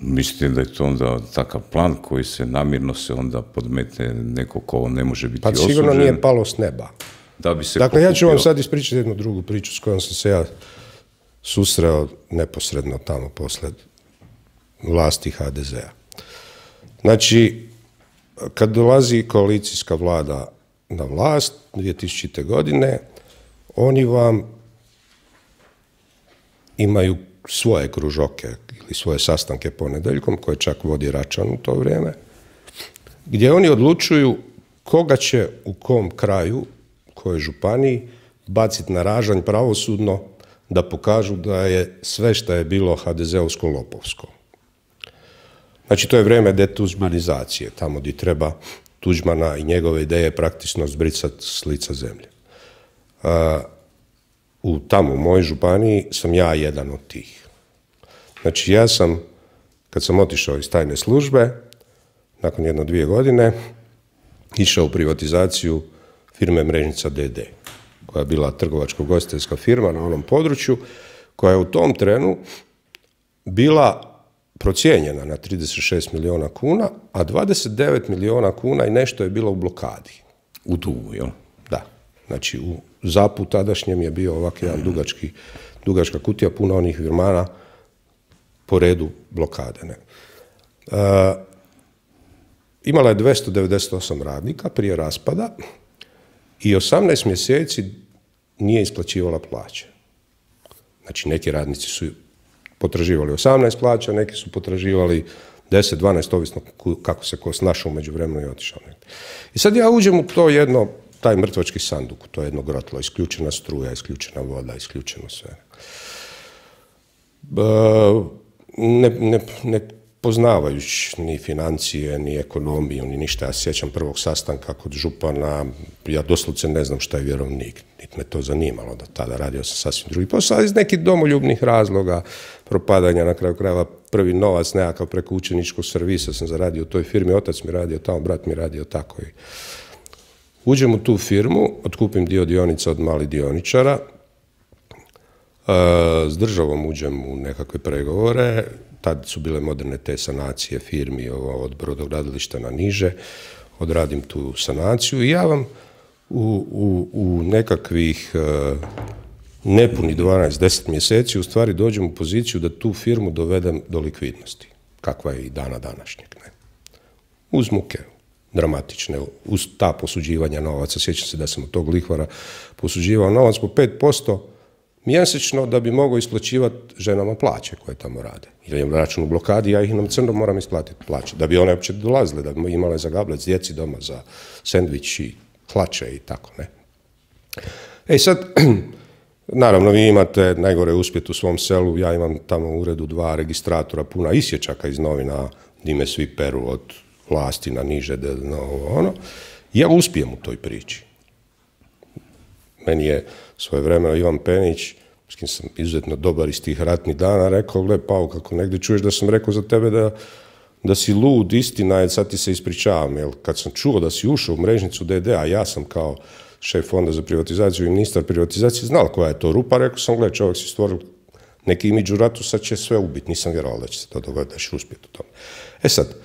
Mislite da je to onda takav plan koji se namirno se onda podmete neko ko ne može biti osuđen? Pa sigurno nije palo s neba. Da bi se dakle, ja ću vam sad ispričati jednu drugu priču s kojom sam se ja susreo neposredno tamo poslije vlasti HDZ-a. Znači, kad dolazi koalicijska vlada na vlast 2000. godine, oni vam imaju svoje kružoke ili svoje sastanke ponedjeljkom, koje čak vodi Račan u to vrijeme, gdje oni odlučuju koga će u kom kraju, kojoj županiji, baciti na ražanj pravosudno da pokažu da je sve što je bilo HDZ-ovsko lopovsko. Znači, to je vrijeme detuđmanizacije, tamo gdje treba Tuđmana i njegove ideje praktično zbrisati s lica zemlje. Tamo u mojoj županiji sam ja jedan od tih. Znači, ja sam, kad sam otišao iz tajne službe, nakon 1-2 godine, išao u privatizaciju firme Mrežnica d.d., koja je bila trgovačko-gostiteljska firma na onom području, koja je u tom trenu bila procijenjena na 36 milijuna kuna, a 29 milijuna kuna i nešto je bilo u blokadi. U dugu, jel? Da. Znači, u ZAP-u tadašnjem je bio ovak jedan dugačka kutija, puno onih firmana po redu blokade. Ne? Imala je 298 radnika prije raspada i 18 mjeseci nije isplaćivala plaće. Znači, neki radnici su potraživali 18 plaća, neki su potraživali 10, 12, ovisno kako se ko snašao umeđu vremenu i otišao. I sad ja uđem u to taj mrtvački sanduk, to je jedno grotlo, isključena struja, isključena voda, isključeno sve. Ne poznavajući ni financije, ni ekonomiju, ni ništa. Ja sjećam prvog sastanka kod župana, ja doslovce ne znam šta je vjerovnik, niti me to zanimalo da tada radio sam sasvim drugi posao, iz nekih domoljubnih razloga, propadanja, na kraju krajeva prvi novac nekakav preko učeničkog servisa sam zaradio u toj firmi, otac mi radio tamo, brat mi radio tako. Uđem u tu firmu, otkupim dio dionica od malih dioničara, s državom uđem u nekakve pregovore, tad su bile moderne te sanacije firmi od brodogradilišta na niže, odradim tu sanaciju i ja vam u nekakvih nepuni 12-10 mjeseci u stvari dođem u poziciju da tu firmu dovedem do likvidnosti, kakva je i dana današnjeg. Ne? Uz muke dramatične, uz ta posuđivanja novaca, sjećam se da sam od tog lihvara posuđivao novac po 5% mjesečno da bi mogao isplaćivati ženama plaće koje tamo rade. Jer je račun u blokadi, ja ih nam crno moram isplatiti plaće, da bi one uopće dolazile, da bi imale za gablec djeci doma, za sendvič i hlače i tako, ne. Sad, naravno, vi imate najgore uspjet u svom selu, ja imam tamo u uredu 2 registratora puna isječaka iz novina, gdje me svi peru od vlasti na niže, ja uspijem u toj priči. Meni je svojevremeno Ivan Penić, s kim sam izuzetno dobar iz tih ratnih dana, rekao, gle, Pao, kako negdje čuješ da sam rekao za tebe da si lud, istina je, sad ti se ispričavam, jer kad sam čuo da si ušao u Mrežnicu d.d., a ja sam kao šef fonda za privatizaciju i ministar privatizacije znal koja je to rupa, rekao sam, gle, čovjek si stvoril neki imidž u ratu, sad će sve ubiti, nisam vjerovao da će se to dogoditi, da će uspjeti u tome. Sad,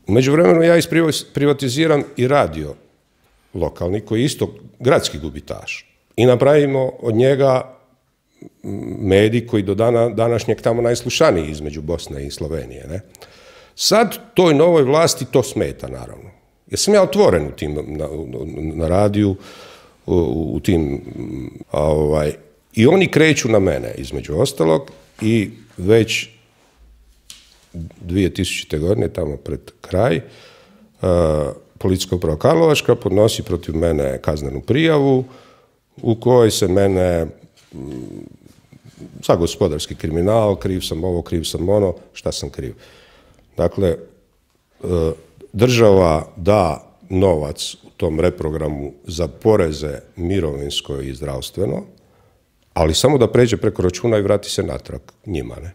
u međuvremenu ja isprivatiziram i radio lokalni, koji je isto gradski gubitaš. I napravimo od njega medij koji do dana današnjeg tamo najslušaniji između Bosne i Slovenije. Ne? Sad toj novoj vlasti to smeta, naravno. Jer sam ja otvoren u tim, na radiju, u tim, i oni kreću na mene, između ostalog, i već 2000. godine, tamo pred kraj, Policijska uprava Karlovačka podnosi protiv mene kaznenu prijavu u kojoj se mene za gospodarski kriminal, kriv sam ovo, kriv sam ono, šta sam kriv. Dakle, država da novac u tom reprogramu za poreze mirovinsko i zdravstveno, ali samo da pređe preko računa i vrati se natrag njima, ne.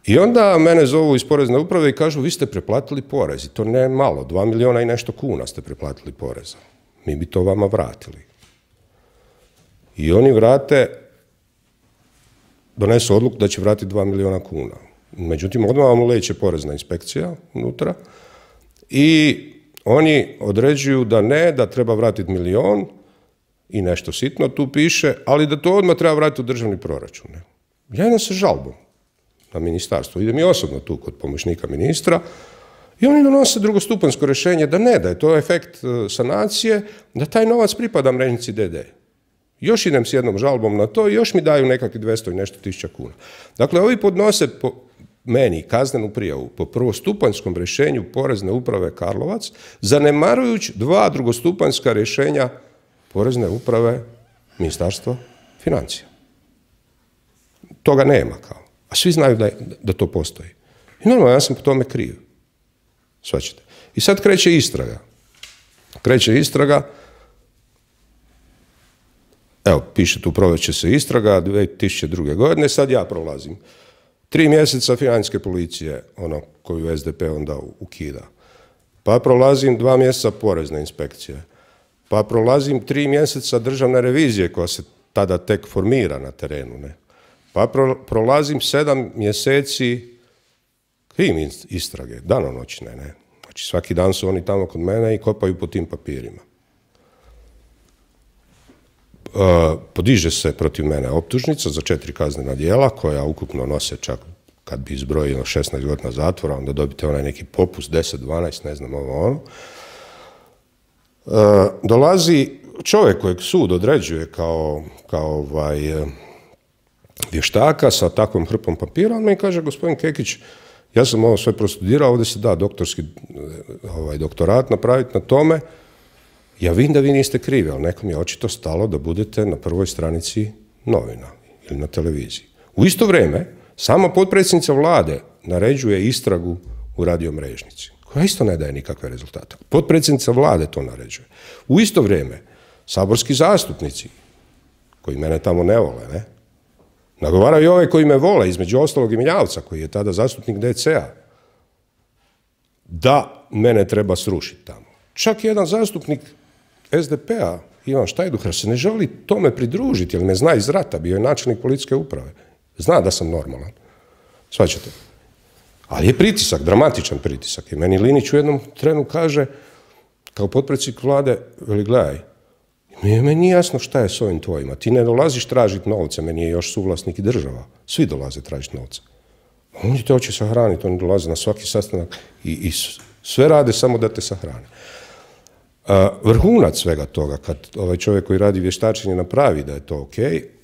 I onda mene zovu iz porezne uprave i kažu, vi ste preplatili porez. I to ne malo, 2 milijuna i nešto kuna ste preplatili poreza. Mi bi to vama vratili. I oni donesu odluku da će vratiti 2 milijuna kuna. Međutim, odmah vam uleće porezna inspekcija unutra i oni određuju da ne, da treba vratiti 1 milijun i nešto sitno tu piše, ali da to odmah treba vratiti u državni proračun. Ja idem sa žalbom na ministarstvo. Idem i osobno tu kod pomoćnika ministra i oni donose drugostupanjsko rješenje da ne, da je to efekt sanacije, da taj novac pripada Mrežnici d.d. Još idem s jednom žalbom na to i još mi daju nekakvi 200 i nešto tisuća kuna. Dakle, ovi podnose po meni kaznenu prijavu po prvostupanjskom rješenju Porezne uprave Karlovac, zanemarujući 2 drugostupanjska rješenja Porezne uprave Ministarstva financija. Toga nema kao. A svi znaju da to postoji. I normalno, ja sam po tome kriv. Shvaćate. I sad kreće istraga. Evo, piše tu, provest će se istraga 2002. godine, sad ja prolazim. 3 mjeseca financijske policije, ono koju SDP onda ukida. Pa prolazim 2 mjeseca porezne inspekcije. Pa prolazim 3 mjeseca državne revizije koja se tada tek formira na terenu. Ne? Pa prolazim 7 mjeseci krim istrage, danonoćne. Ne? Znači svaki dan su oni tamo kod mene i kopaju po tim papirima. Podiže se protiv mene optužnica za 4 kaznena djela koja ukupno nose čak, kad bi izbrojio 16 godina zatvora, onda dobite onaj neki popust, 10, 12, ne znam ovo ono. Dolazi čovjek kojeg sud određuje kao vještaka sa takvom hrpom papira, on mi kaže, gospodin Kekić, ja sam ovo sve prostudirao, ovdje se da doktorski doktorat napraviti na tome. Ja vidim da vi niste krivi, ali nekom je očito stalo da budete na prvoj stranici novina ili na televiziji. U isto vrijeme, sama potpredsjednica vlade naređuje istragu u radiomrežnici, koja isto ne daje nikakve rezultate. Potpredsjednica vlade to naređuje. U isto vrijeme, saborski zastupnici, koji mene tamo ne vole, ne, nagovaraju i ove koji me vole, između ostalog i Miljavca, koji je tada zastupnik DC-a, da mene treba srušiti tamo. Čak jedan zastupnik SDP-a, Ivan Štajduhar, se ne želi tome pridružiti, jer me zna iz rata, bio je načelnik policijske uprave. Zna da sam normalan. Shvaćate? Ali je pritisak, dramatičan pritisak. I meni Linić u jednom trenu kaže, kao potpredsjednik vlade, veli, gledaj, meni nije jasno šta je s ovim tvojima. Ti ne dolaziš tražiti novce, meni je još suvlasnik i država. Svi dolaze tražiti novce. Oni te hoće sahraniti, oni dolaze na svaki sastanak i sve rade samo da te sahrane. Vrhunac svega toga, kad ovaj čovjek koji radi vještačenje napravi da je to ok,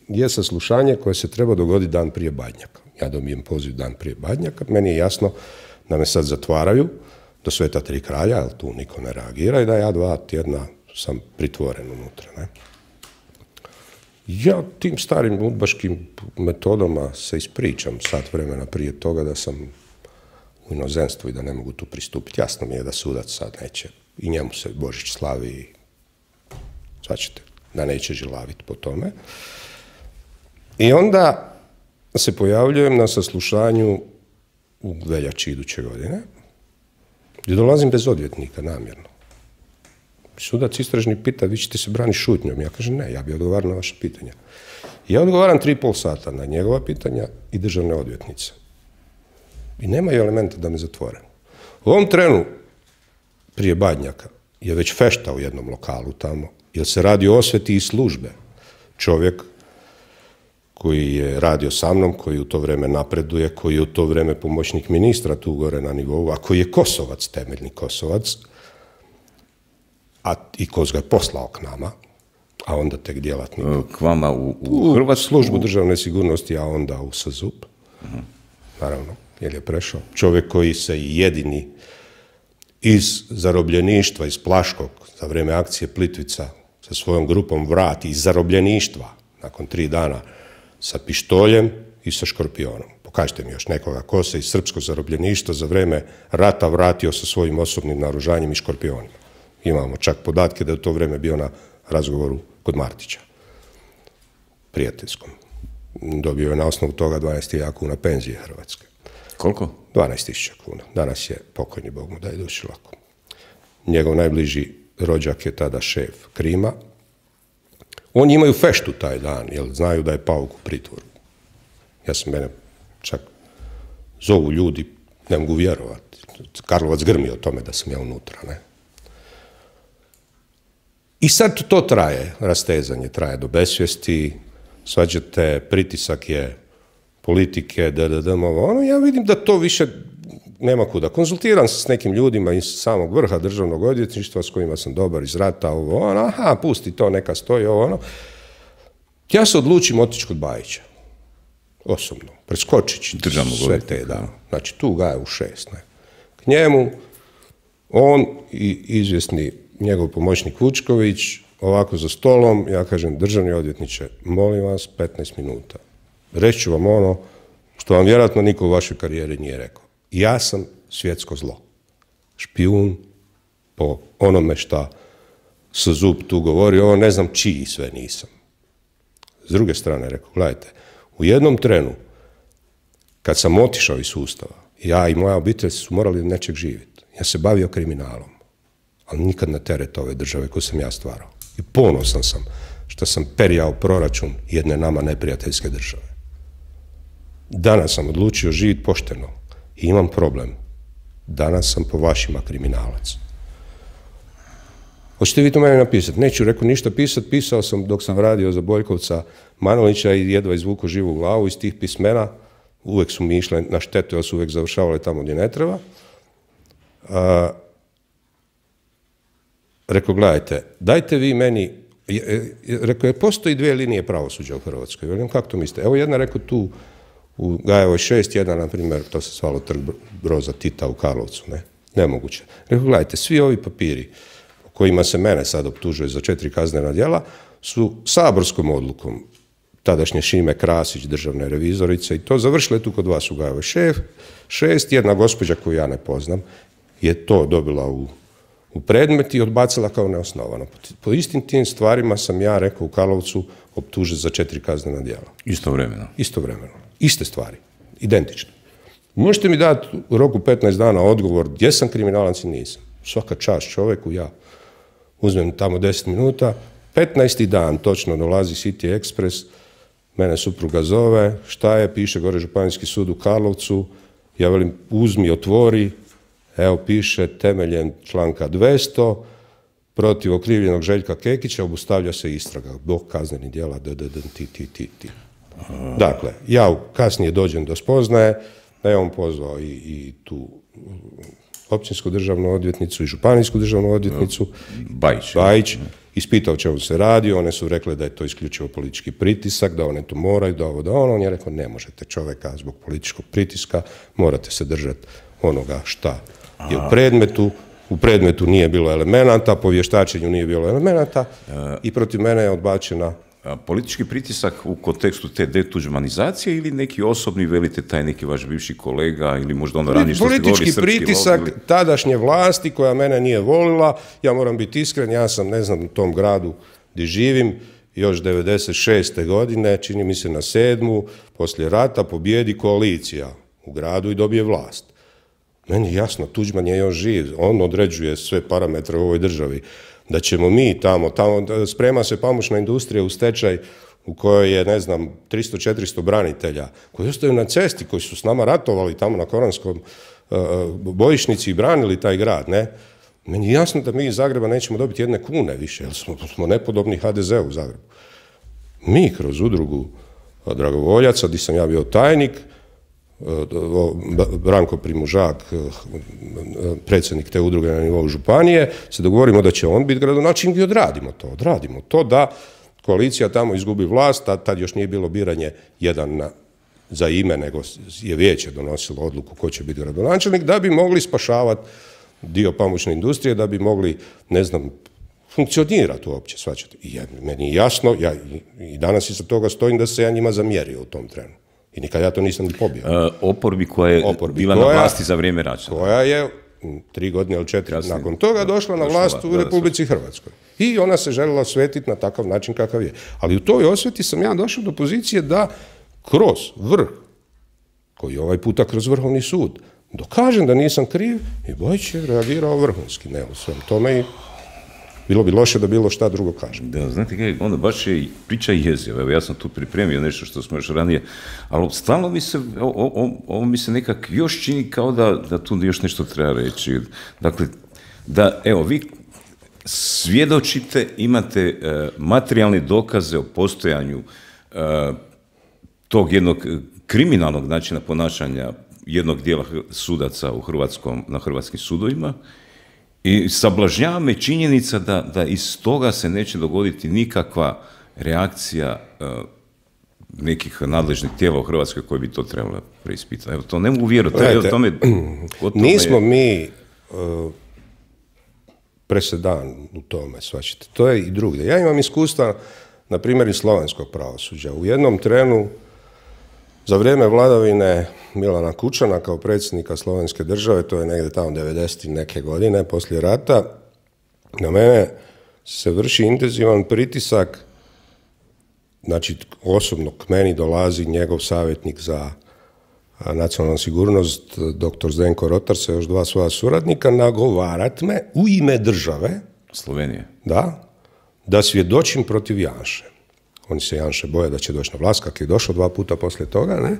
je saslušanje koje se treba dogoditi dan prije Badnjaka. Ja dobijem poziv dan prije Badnjaka, meni je jasno da me sad zatvaraju do Sveta Tri kralja, ali tu niko ne reagira i da ja 2 tjedna sam pritvoren unutra. Ne? Ja tim starim udbaškim metodama se ispričam sat vremena prije toga da sam u inozemstvu i da ne mogu tu pristupiti. Jasno mi je da sudac sad neće, i njemu se Božić slavi i svačete, da neće žilaviti po tome. I onda se pojavljujem na saslušanju u veljači iduće godine, gdje dolazim bez odvjetnika, namjerno. Sudac istražni pita, vi ćete se braniti šutnjom. Ja kažem, ne, ja bi odgovarao na vaše pitanja. Ja odgovaram 3,5 sata na njegova pitanja i državne odvjetnice. I nemaju elementa da me zatvore. U ovom trenu, prije Badnjaka, je već fešta u jednom lokalu tamo, jer se radi o osveti i službe. Čovjek koji je radio sa mnom, koji u to vrijeme napreduje, koji je u to vrijeme pomoćnik ministra tu gore na nivou, a koji je Kosovac, temeljni Kosovac, i ko ga je poslao k nama, a onda tek djelatnik. K vama u Hrvatsku? Službu državne sigurnosti, a onda u SZUP. Naravno, jer je prešao. Čovjek koji se jedini iz zarobljeništva, iz Plaškog, za vrijeme akcije Plitvica, sa svojom grupom vrati iz zarobljeništva, nakon 3 dana, sa pištoljem i sa škorpionom. Pokažite mi još nekoga ko se iz srpskog zarobljeništva za vrijeme rata vratio sa svojim osobnim naoružanjem i škorpionima. Imamo čak podatke da je u to vrijeme bio na razgovoru kod Martića, prijateljskom. Dobio je na osnovu toga 12.000 kuna penzije Hrvatske. Koliko? 12.000 kuna. Danas je pokojni, Bog mu daje duši lako. Njegov najbliži rođak je tada šef Krima. Oni imaju feštu taj dan, jer znaju da je Pauk u pritvoru. Ja sam mene čak zovu ljudi, ne mogu vjerovati. Karlovac grmi o tome da sam ja unutra, ne? I sad to traje, rastezanje traje do besvijesti, svađate, pritisak je politike, ono, ja vidim da to više nema kuda. Konzultiram se s nekim ljudima iz samog vrha državnog odvjetništva s kojima sam dobar iz rata, ovo, ono, aha, pusti to, neka stoji, ovo, ono. Ja se odlučim otići kod Bajića, osobno, preskočići sve te, da. Znači, tu ga je u 6, ne. K njemu, on i izvjesni njegov pomoćnik Vučković ovako za stolom, ja kažem, državni odvjetniče, molim vas 15 minuta. Reći ću vam ono što vam vjerojatno niko u vašoj karijeri nije rekao. Ja sam svjetsko zlo. Špijun po onome šta sa zub tu govori, ovo ne znam čiji sve nisam. S druge strane rekao, gledajte, u jednom trenu, kad sam otišao iz sustava, ja i moja obitelj su morali od nečeg živjeti. Ja se bavio kriminalom, ali nikad na teret ove države koju sam ja stvarao. I ponosan sam što sam perijao proračun jedne nama neprijateljske države. Danas sam odlučio živjeti pošteno i imam problem. Danas sam po vašima kriminalac. Hoćete vi to meni napisati? Neću, rekao, ništa pisati. Pisao sam dok sam radio za Boljkovca Manolića i jedva izvuku živu glavu iz tih pismena. Uvijek su mi išle na štetu, jer su uvijek završavale tamo gdje ne treba. Rekao, gledajte, dajte vi meni, rekao, postoji 2 linije pravosuđa u Hrvatskoj. Velim, kako to mislite? Evo jedna, rekao, tu u Gajevoj 6, jedna, na primjer, to se zvalo Trg Broza Tita u Karlovcu, ne? Nemoguće. Rekao, gledajte, svi ovi papiri kojima se mene sad optužuje za 4 kaznena djela su saborskom odlukom tadašnje Šime Krasić, državne revizorice, i to završile tu kod vas u Gajevoj 6, jedna gospođa koju ja ne poznam je to dobila u predmet i odbacila kao neosnovano. Po istim tim stvarima sam ja, rekao, u Karlovcu optužen za 4 kaznena djela. Istovremeno? Istovremeno. Iste stvari. Identične. Možete mi dati u roku 15 dana odgovor gdje sam kriminalac i nisam. Svaka čast čovjeku, ja uzmem tamo 10 minuta, 15. dan točno dolazi City Express, mene supruga zove, šta je, piše gore Županijski sud u Karlovcu, ja velim, uzmi, otvori, evo piše temeljem članka 200, protiv okrivljenog Željka Kekića obustavlja se istraga, zbog kaznenih djela, ti. Dakle, ja kasnije dođem do spoznaje da je on pozvao i tu općinsku državnu odvjetnicu i županijsku državnu odvjetnicu, Bajić, ispitao čemu se radi, one su rekle da je to isključivo politički pritisak, da one to moraju, da ovo, da ono, on je rekao, ne možete čovjeka zbog političkog pritiska, morate se držati onoga šta je u predmetu nije bilo elemenata, po vještačenju nije bilo elemenata i protiv mene je odbačena. Politički pritisak u kontekstu te detuđmanizacije ili neki osobni, velite, taj neki vaš bivši kolega ili možda ono ranije što ste govorili srpski pritisak tadašnje vlasti koja mene nije volila, ja moram biti iskren, ja sam, ne znam, u tom gradu gdje živim, još 96. godine, čini mi se na 7. poslije rata pobjedi koalicija u gradu i dobije vlast. Meni je jasno, Tuđman je još živ, on određuje sve parametre u ovoj državi. Da ćemo mi tamo sprema se pamučna industrija u stečaj u kojoj je, ne znam, 300-400 branitelja koji ostaju na cesti, koji su s nama ratovali tamo na Koranskom bojišnici i branili taj grad, ne? Meni je jasno da mi iz Zagreba nećemo dobiti 1 kune više, jer smo nepodobni HDZ-u u Zagrebu. Mi kroz udrugu dragovoljaca, gdje sam ja bio tajnik, Branko Primužak, predsjednik te udruge na nivou županije, se dogovorimo da će on biti gradonačelnik i odradimo to da koalicija tamo izgubi vlast, tad još nije bilo biranje jedan za ime, nego je vijeće donosilo odluku ko će biti gradonačelnik, da bi mogli spašavati dio pamučne industrije, da bi mogli, ne znam, funkcionirati uopće, shvaćate. I meni je jasno, ja i danas iza toga stojim da se ja njima zamjerio u tom trenu. I nikad ja to nisam ni pobio. Oporbi koja je bila na vlasti za vrijeme Račana. Koja je 3 godine ili 4 nakon toga došla na vlast u Republici Hrvatskoj. I ona se željela osvetiti na takav način kakav je. Ali u toj osveti sam ja došao do pozicije da kroz vrh, koji je ovaj puta kroz Vrhovni sud, dokažem da nisam kriv i Bojić je reagirao vrhunski. Ne, u svem tome i bilo bi loše da bilo šta drugo kažem. Da, znate kaj, onda baš je priča jezio. Evo, ja sam tu pripremio nešto što smo još ranije, ali stalno mi se, ovo mi se nekak još čini kao da tu još nešto treba reći. Dakle, da, evo, vi svjedočite, imate materijalne dokaze o postojanju tog jednog kriminalnog načina ponašanja jednog dijela sudaca na hrvatskim sudovima. I sablažnjava me činjenica da iz toga se neće dogoditi nikakva reakcija nekih nadležnih tijela u Hrvatskoj koji bi to trebalo preispitati. Evo, to ne mogu vjerovati. Nismo mi presedan u tome, svačite. To je i drugdje. Ja imam iskustva, na primjer, iz slovenskog pravosuđa. U jednom trenu, za vrijeme vladavine Milana Kučana kao predsjednika Slovenske države, to je negdje tamo 90. neke godine, poslije rata, na mene se vrši intenzivan pritisak, znači osobno k meni dolazi njegov savjetnik za nacionalnu sigurnost, dr. Zdenko Rotar, sa još 2 svoja suradnika, nagovarat me u ime države Slovenije. Da svjedočim protiv Janše. Oni se Janše boje da će doći na vlast, kak je došao 2 puta poslije toga, ne?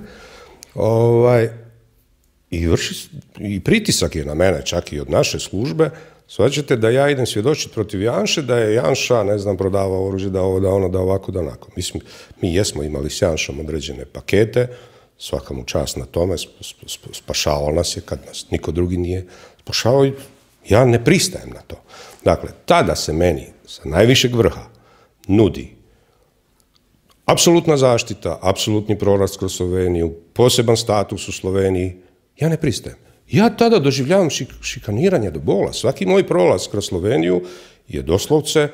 I pritisak je na mene, čak i od naše službe, shvaćate da ja idem svjedočiti protiv Janše, da je Janša, ne znam, prodavao oružje, da ovo, da ono, da ovako, da onako. Mislim, mi jesmo imali s Janšom određene pakete, svaka mu čast na tome, spašavao nas je kad nas niko drugi nije spašavao i ja ne pristajem na to. Dakle, tada se meni sa najvišeg vrha nudi apsolutna zaštita, apsolutni prolaz kroz Sloveniju, poseban status u Sloveniji, ja ne pristajem. Ja tada doživljavam šikaniranje do bola. Svaki moj prolaz kroz Sloveniju je doslovce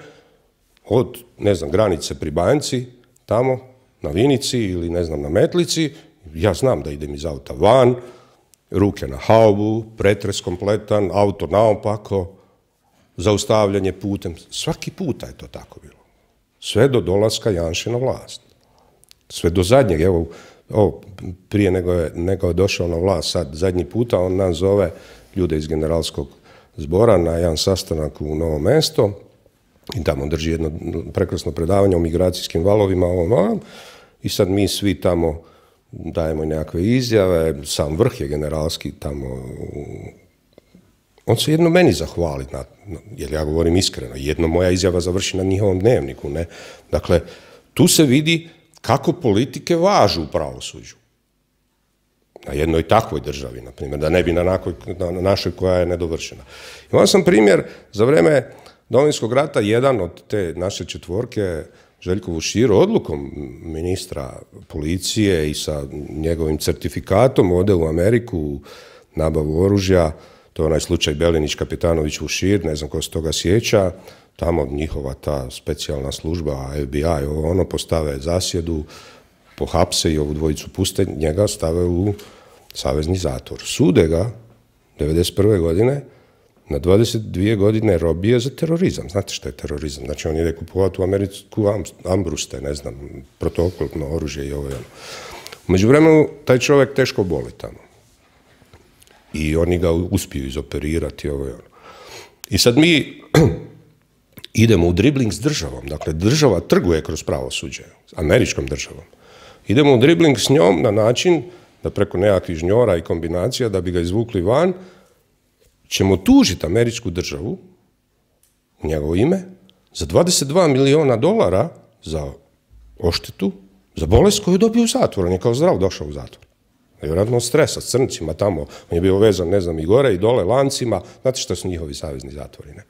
od, ne znam, granice pri Banjci, tamo na Vinici ili, ne znam, na Metlici. Ja znam da idem iz auta van, ruke na haubu, pretres kompletan, auto naopako, zaustavljanje putem. Svaki puta je to tako bilo. Sve do dolaska Janše na vlast. Sve do zadnjeg, evo, prije nego je došao na vlast, sad zadnji puta on nas zove ljude iz generalskog zbora na jedan sastanak u Novo mesto i tamo drži jedno prekrasno predavanje o migracijskim valovima, i sad mi svi tamo dajemo i nekakve izjave, sam vrh je generalski tamo, on se jedno meni zahvali, jer ja govorim iskreno, jedno moja izjava završi na njihovom dnevniku, ne? Dakle, tu se vidi kako politike važu u pravosuđu. Na jednoj takvoj državi, na primjer, da ne bi na našoj koja je nedovršena. Imao sam primjer za vrijeme Domovinskog rata, jedan od te naše četvorke, Željko Vušir, odlukom ministra policije i sa njegovim certifikatom ode u Ameriku nabavu oružja, to je onaj slučaj Belinić, Kapetanović, Vušir, ne znam ko se toga sjeća, tamo njihova ta specijalna služba, FBI, postave zasjedu, pohapse i ovu dvojicu puste, njega stave u savezni zatvor. Sude ga 1991. godine na 22 godine robije za terorizam. Znate šta je terorizam? Znači on ide kupovati u Ameriku ambruste, ne znam, protuoklopno oružje i ovo i ono. U međuvremenu taj čovjek teško boli tamo. I oni ga uspiju izoperirati, ovo i ono. I sad mi idemo u dribling s državom. Dakle, država trguje kroz pravosuđe, američkom državom. Idemo u dribling s njom na način da preko nekakvih žnjora i kombinacija, da bi ga izvukli van, ćemo tužiti američku državu u njegovo ime za $22 milijuna za odštetu, za bolest koju je dobio u zatvoru. On je kao zdrav došao u zatvor. Vjerojatno od stresa, s crncima tamo. On je bio vezan, ne znam, i gore i dole, lancima. Znate što su njihovi savezni zatvori, ne?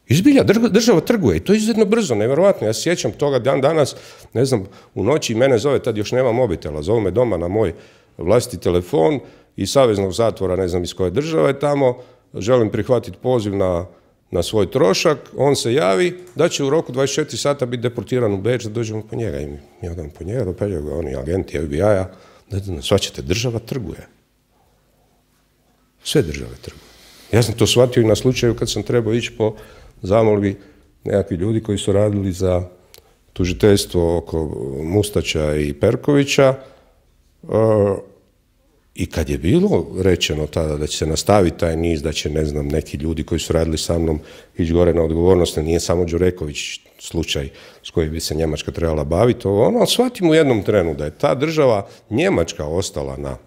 Izbilja, država trguje i to je izuzetno brzo, nevjerojatno. Ja se sjećam toga danas, ne znam, u noći mene zove, tad još nema mobitela, zove me doma na moj vlastiti telefon iz saveznog zatvora, ne znam iz koje države tamo, želim prihvatiti poziv na svoj trošak, on se javi da će u roku 24 sata biti deportiran u Beč, da dođemo po njega. I mi odemo po njega, dopeljaju ga oni agenti FBI-a, shvaćate, država trguje. Sve države trguju. Ja sam to shvatio i na slučaju kad sam trebao ići po zamolbi nekakvi ljudi koji su radili za tužiteljstvo oko Mustača i Perkovića, i kad je bilo rečeno tada da će se nastaviti taj niz, da će, ne znam, neki ljudi koji su radili sa mnom ići gore na odgovornost, nije samo Đureković slučaj s kojim bi se Njemačka trebala baviti, ali shvatim u jednom trenu da je ta država Njemačka ostala na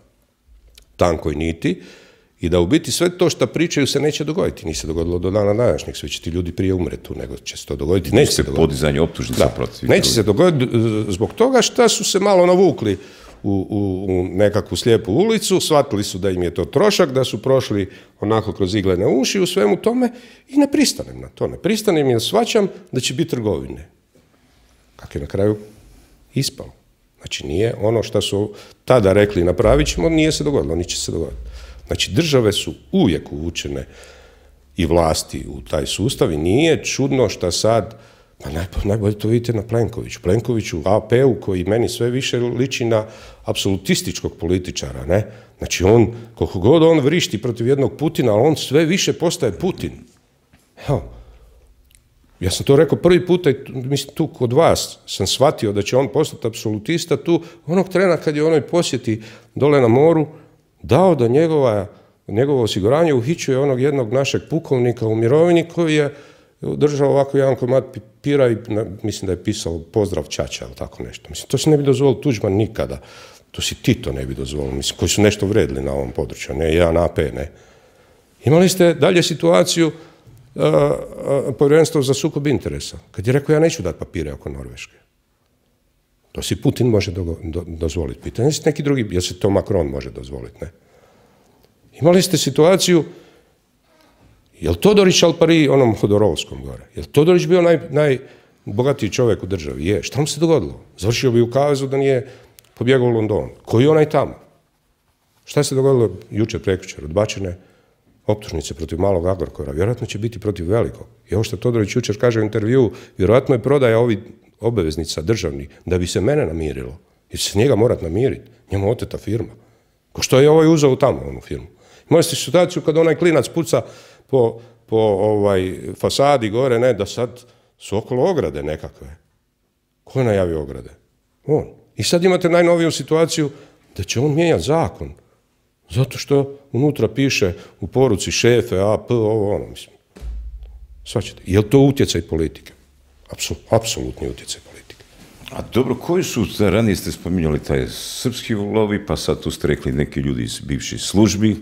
tankoj niti i da u biti sve to što pričaju se neće dogoditi. Nije se dogodilo do dana današnjeg, sve će ti ljudi prije umretu nego će se to dogoditi. Neće se dogoditi. Podizanje optužnica protiv. Neće se dogoditi zbog toga što su se malo navukli u nekakvu slijepu ulicu, shvatili su da im je to trošak, da su prošli onako kroz iglene uši u svemu tome i ne pristanem na to. Ne pristanem jer shvaćam da će biti trgovine. Kako je na kraju ispalo. Znači nije ono što su tada rekli napravit ćemo, nije se dogodilo, ni će se dogoditi. Znači države su uvijek uvučene i vlasti u taj sustav i nije čudno šta sad, pa najbolje to vidite na Plenkoviću. Plenkoviću, AP-u koji meni sve više liči na apsolutističkog političara, ne? Znači on, koliko god on vrišti protiv jednog Putina, ali on sve više postaje Putin. Evo, ja sam to rekao prvi puta, mislim tu kod vas sam shvatio da će on postati apsolutista tu, onog trena kad je onoj posjeti dole na moru, dao da njegovo osiguranje uhićuje onog jednog našeg pukovnika u mirovini koji je držao ovako jedan komad papira i mislim da je pisao pozdrav ćaća ili tako nešto. Mislim, to se ne bi dozvolio Tuđman nikada. To si Tito ne bi dozvolio, mislim, koji su nešto vredili na ovom području, ne jedan AP, ne. Imali ste dalje situaciju povjerenstvo za sukob interesa, kad je rekao ja neću dati papire oko Norveške. To si Putin može dozvoliti. Pitanje je neki drugi, jer se to Macron može dozvoliti, ne. Imali ste situaciju, je li Todorić al pari onom Hodorovskom gore? Je li Todorić bio najbogatiji čovjek u državi? Je. Šta mu se dogodilo? Završio bi u kavezu da nije pobjegao u London. Koji je onaj tamo? Šta se dogodilo jučer, prekjučer? Odbačene optužnice protiv malog Agrokora. Vjerojatno će biti protiv velikog. I ovo što Todorić jučer kaže u intervjuu, vjerojatno je prodaja ovih obveznica državnih da bi se mene namirilo. Jer će se njega morat namiriti. Njemu oteta firma. Ko što je ovaj uzeo tamo onu firmu. Imali ste situaciju kad onaj klinac puca po fasadi gore, ne, da sad su okolo ograde nekakve. Ko je najavio ograde? On. I sad imate najnoviju situaciju da će on mijenjati zakon. Zato što unutra piše u poruci šefe, AP, ovo, ono, mislim. Svačate. Je li to utjecaj politike? Apsolutni utjecaj politike. A dobro, koji su, ranije ste spominjali taj srpski lobi, pa sad tu ste rekli neki ljudi iz bivših službi,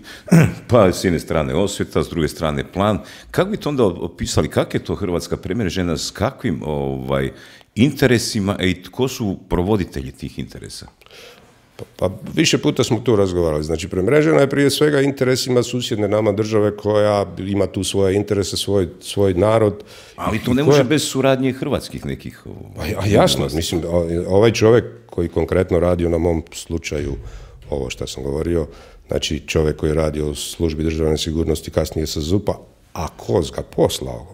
pa s jedne strane osveta, s druge strane plan. Kako bi to onda opisali, kako je to Hrvatska premrežena, s kakvim interesima i tko su provoditelji tih interesa? Pa više puta smo tu razgovarali. Znači, premrežena je prije svega interesima susjedne nama države koja ima tu svoje interese, svoj narod. Ali to ne može bez suradnje hrvatskih nekih... A jasno, mislim, ovaj čovjek koji konkretno radi na mom slučaju, ovo što sam govorio, znači čovjek koji radi u službi državne sigurnosti, kasnije sa ZUP-a, a ko ga poslao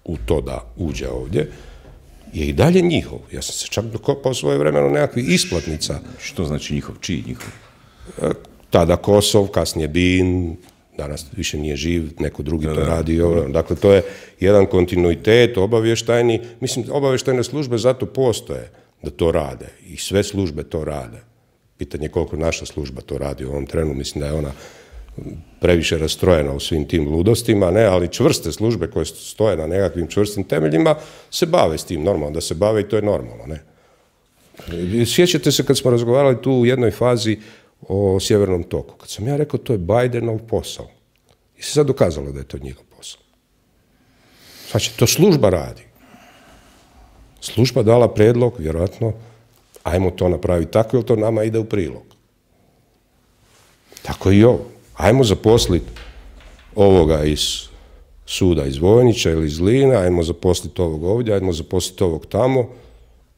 u to da uđe ovdje, je i dalje njihov. Ja sam se čak dokopao svoje vremeno nekakvih isplatnica. Što znači njihov? Čiji njihov? Tada Kosov, kasnije Bin, danas više nije živ, neko drugi to radi. Dakle, to je jedan kontinuitet obavještajni. Mislim, obavještajne službe zato postoje da to rade. I sve službe to rade. Pitanje je koliko naša služba to radi u ovom trenu. Mislim da je ona previše rastrojena u svim tim ludostima, ne, ali čvrste službe koje stoje na nekakvim čvrstim temeljima se bave s tim, normalno da se bave i to je normalno, ne. Sjećate se kad smo razgovarali tu u jednoj fazi o Sjevernom toku, kad sam ja rekao to je Bidenov posao i se sad dokazalo da je to njihov posao. Znači, to služba radi. Služba dala predlog, vjerojatno, ajmo to napraviti tako, jer to nama ide u prilog. Tako i ovo. Ajmo zaposliti ovoga iz suda iz Vojnića ili iz Line, ajmo zaposliti ovog ovdje, ajmo zaposliti ovog tamo,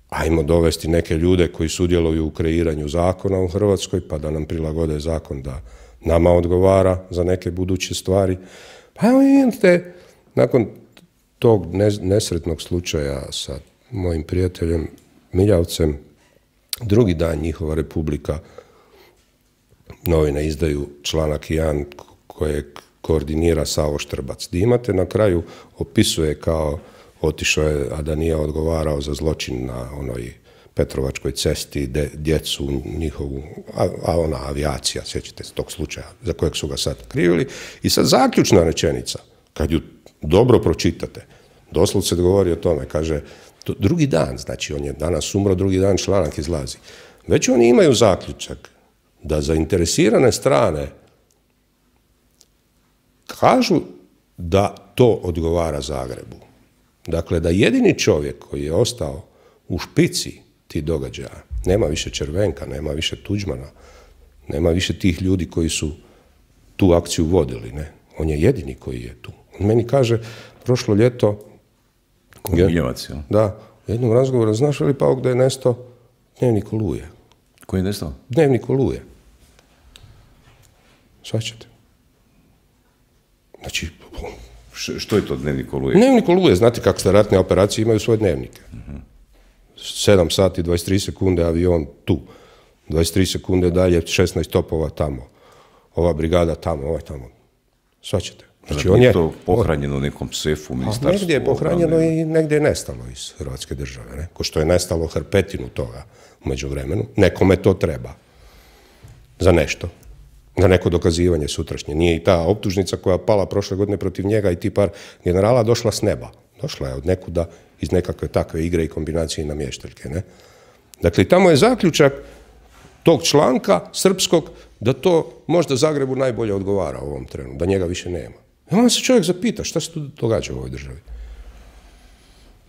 ajmo dovesti neke ljude koji sudjeluju u kreiranju zakona u Hrvatskoj, pa da nam prilagode zakon da nama odgovara za neke buduće stvari. Pa evo vidite, nakon tog nesretnog slučaja sa mojim prijateljem Miljavcem, drugi dan njihova Republika, novine izdaju članak 1 kojeg koordinira Savo Štrbac. Di imate na kraju opisuje kao otišao je, a da nije odgovarao za zločin na onoj Petrovačkoj cesti, djecu njihovu, a ona avijacija, sjećate se tog slučaja za kojeg su ga sad krivili. I sad zaključna rečenica, kad ju dobro pročitate, doslovce govori o tome, kaže, drugi dan, znači on je danas umro, drugi dan članak izlazi. Već oni imaju zaključak da zainteresirane strane kažu da to odgovara Zagrebu. Dakle, da jedini čovjek koji je ostao u špici tih događaja, nema više Červenka, nema više Tuđmana, nema više tih ljudi koji su tu akciju vodili, ne. On je jedini koji je tu. On meni kaže, prošlo ljeto... Miljevac, ja? Da, u jednom razgovoru, znaš li Pauk da je nestao Dnevnik Oluje? Koji je nestao? Dnevnik Oluje. Svaćate. Znači, Što je to dnevnik Oluje? Dnevnik Oluje, znate kako se ratne operacije imaju svoje dnevnike. 7 sati, 23 sekunde avion tu. 23 sekunde dalje, 16 topova tamo. Ova brigada tamo, ovaj tamo. Svaćete. Znači on je to pohranjeno u nekom sefu u ministarstvu? Negdje je pohranjeno i negdje je nestalo iz Hrvatske države. Ne? Ko što je nestalo hrpetinu toga u međuvremenu. Nekome to treba. Za nešto. Za neko dokazivanje sutrašnje. Nije i ta optužnica koja je pala prošle godine protiv njega i ti par generala došla s neba. Došla je od nekuda iz nekakve takve igre i kombinacije namještaljke. Ne? Dakle, tamo je zaključak tog članka srpskog da to možda Zagrebu najbolje odgovara u ovom trenu, da njega više nema. I onda se čovjek zapita šta se tu događa u ovoj državi.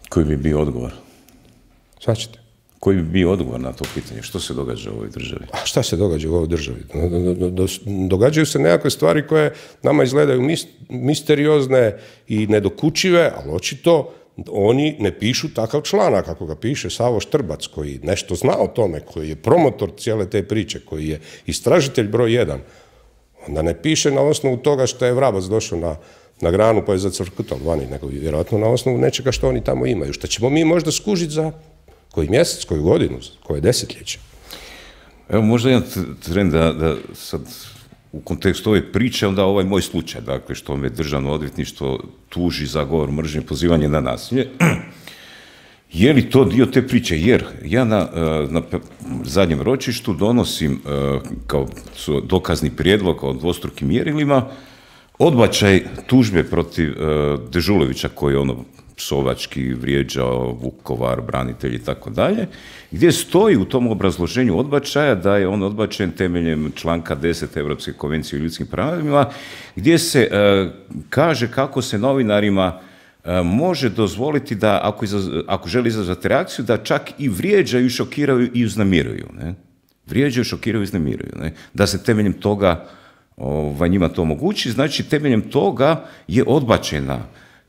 Koji bi bio odgovor? Svaćete? Koji bi bio odgovor na to pitanje? Što se događa u ovoj državi? A šta se događa u ovoj državi? Događaju se nekakve stvari koje nama izgledaju misteriozne i nedokučive, ali očito oni ne pišu takav članak, ako ga piše Savo Štrbac, koji nešto zna o tome, koji je promotor cijele te priče, koji je istražitelj broj 1, onda ne piše na osnovu toga što je vrabac došao na granu pa je zacrkutao vani, nego vjerojatno na osnovu nečega što oni tamo imaju, što ćemo mi možda skužiti za koji mjesec, koju godinu, koje desetljeće. Evo možda jedan trend da sad u kontekstu ove priče, onda ovaj moj slučaj, dakle, što me državno odvjetništvo tuži za govor mržnje, pozivanje na nasilje. Je li to dio te priče? Jer ja na zadnjem ročištu donosim kao dokazni prijedlog o dvostrukim mjerilima odbačaj tužbe protiv Dežulovića koji je psovački vrijeđao Vukovar, branitelji i tako dalje, gdje stoji u tom obrazloženju odbačaja da je on odbačen temeljem članka 10 Europske konvencije o ljudskim pravima, gdje se kaže kako se novinarima može dozvoliti da, ako želi izazvati reakciju, da čak i vrijeđaju, šokiraju i uznemiruju. Ne? Vrijeđaju, šokiraju i uznemiruju. Ne? Da se temeljem toga njima to omogući, znači temeljem toga je odbačena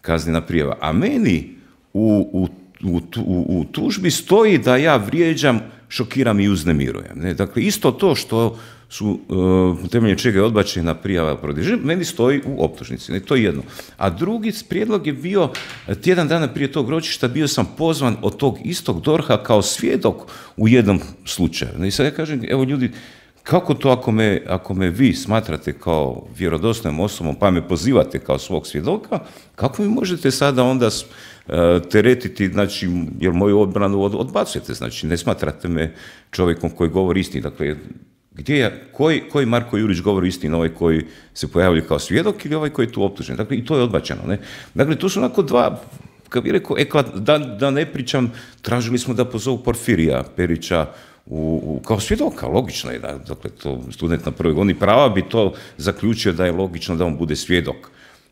kaznena prijava. A meni u tužbi stoji da ja vrijeđam, šokiram i uznemirujem. Ne? Dakle, isto to što su temeljem čega je odbačena prijava protiv meni stoji u optužnici. Ne? To je jedno. A drugi prijedlog je bio, tjedan dana prije tog ročišta bio sam pozvan od tog istog DORH-a kao svjedok u jednom slučaju. Ne? I sad ja kažem, evo ljudi, kako to ako me vi smatrate kao vjerodostojnom osobom pa me pozivate kao svog svjedoka, kako mi možete sada onda teretiti, znači, jer moju odbranu odbacujete, znači ne smatrate me čovjekom koji govori istinu. Dakle, koji Marko Jurić govori istinu, ovaj koji se pojavljuje kao svjedok ili ovaj koji je tu optužen? Dakle, i to je odbačeno. Ne? Dakle, to su onako dva, kad bih rekao, da ne pričam, tražili smo da pozovu Porfirija Perića kao svjedoka, logično je, dakle, to student na prvoj godini prava bi to zaključio da je logično da on bude svjedok.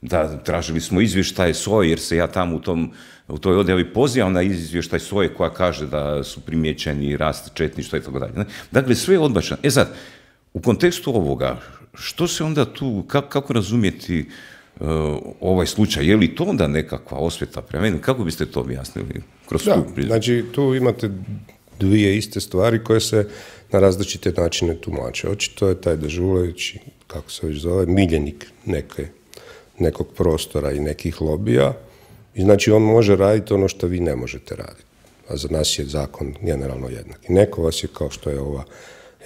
Da, tražili smo izvještaj SOA jer se ja tamo u toj odjavi pozivam na izvještaj SOA koja kaže da su primijećeni rast četništva i tako dalje. Dakle, sve je odbačeno. E sad, u kontekstu ovoga, što se onda tu, kako razumjeti ovaj slučaj? Je li to onda nekakva osveta prema meni? Kako biste to objasnili? Znači, tu imate dvije iste stvari koje se na različite načine tumače. Očito je taj Dežulović, kako se već zove, miljenik nekog prostora i nekih lobija i znači on može raditi ono što vi ne možete raditi. A za nas je zakon generalno jednak. I neko vas je, kao što je ova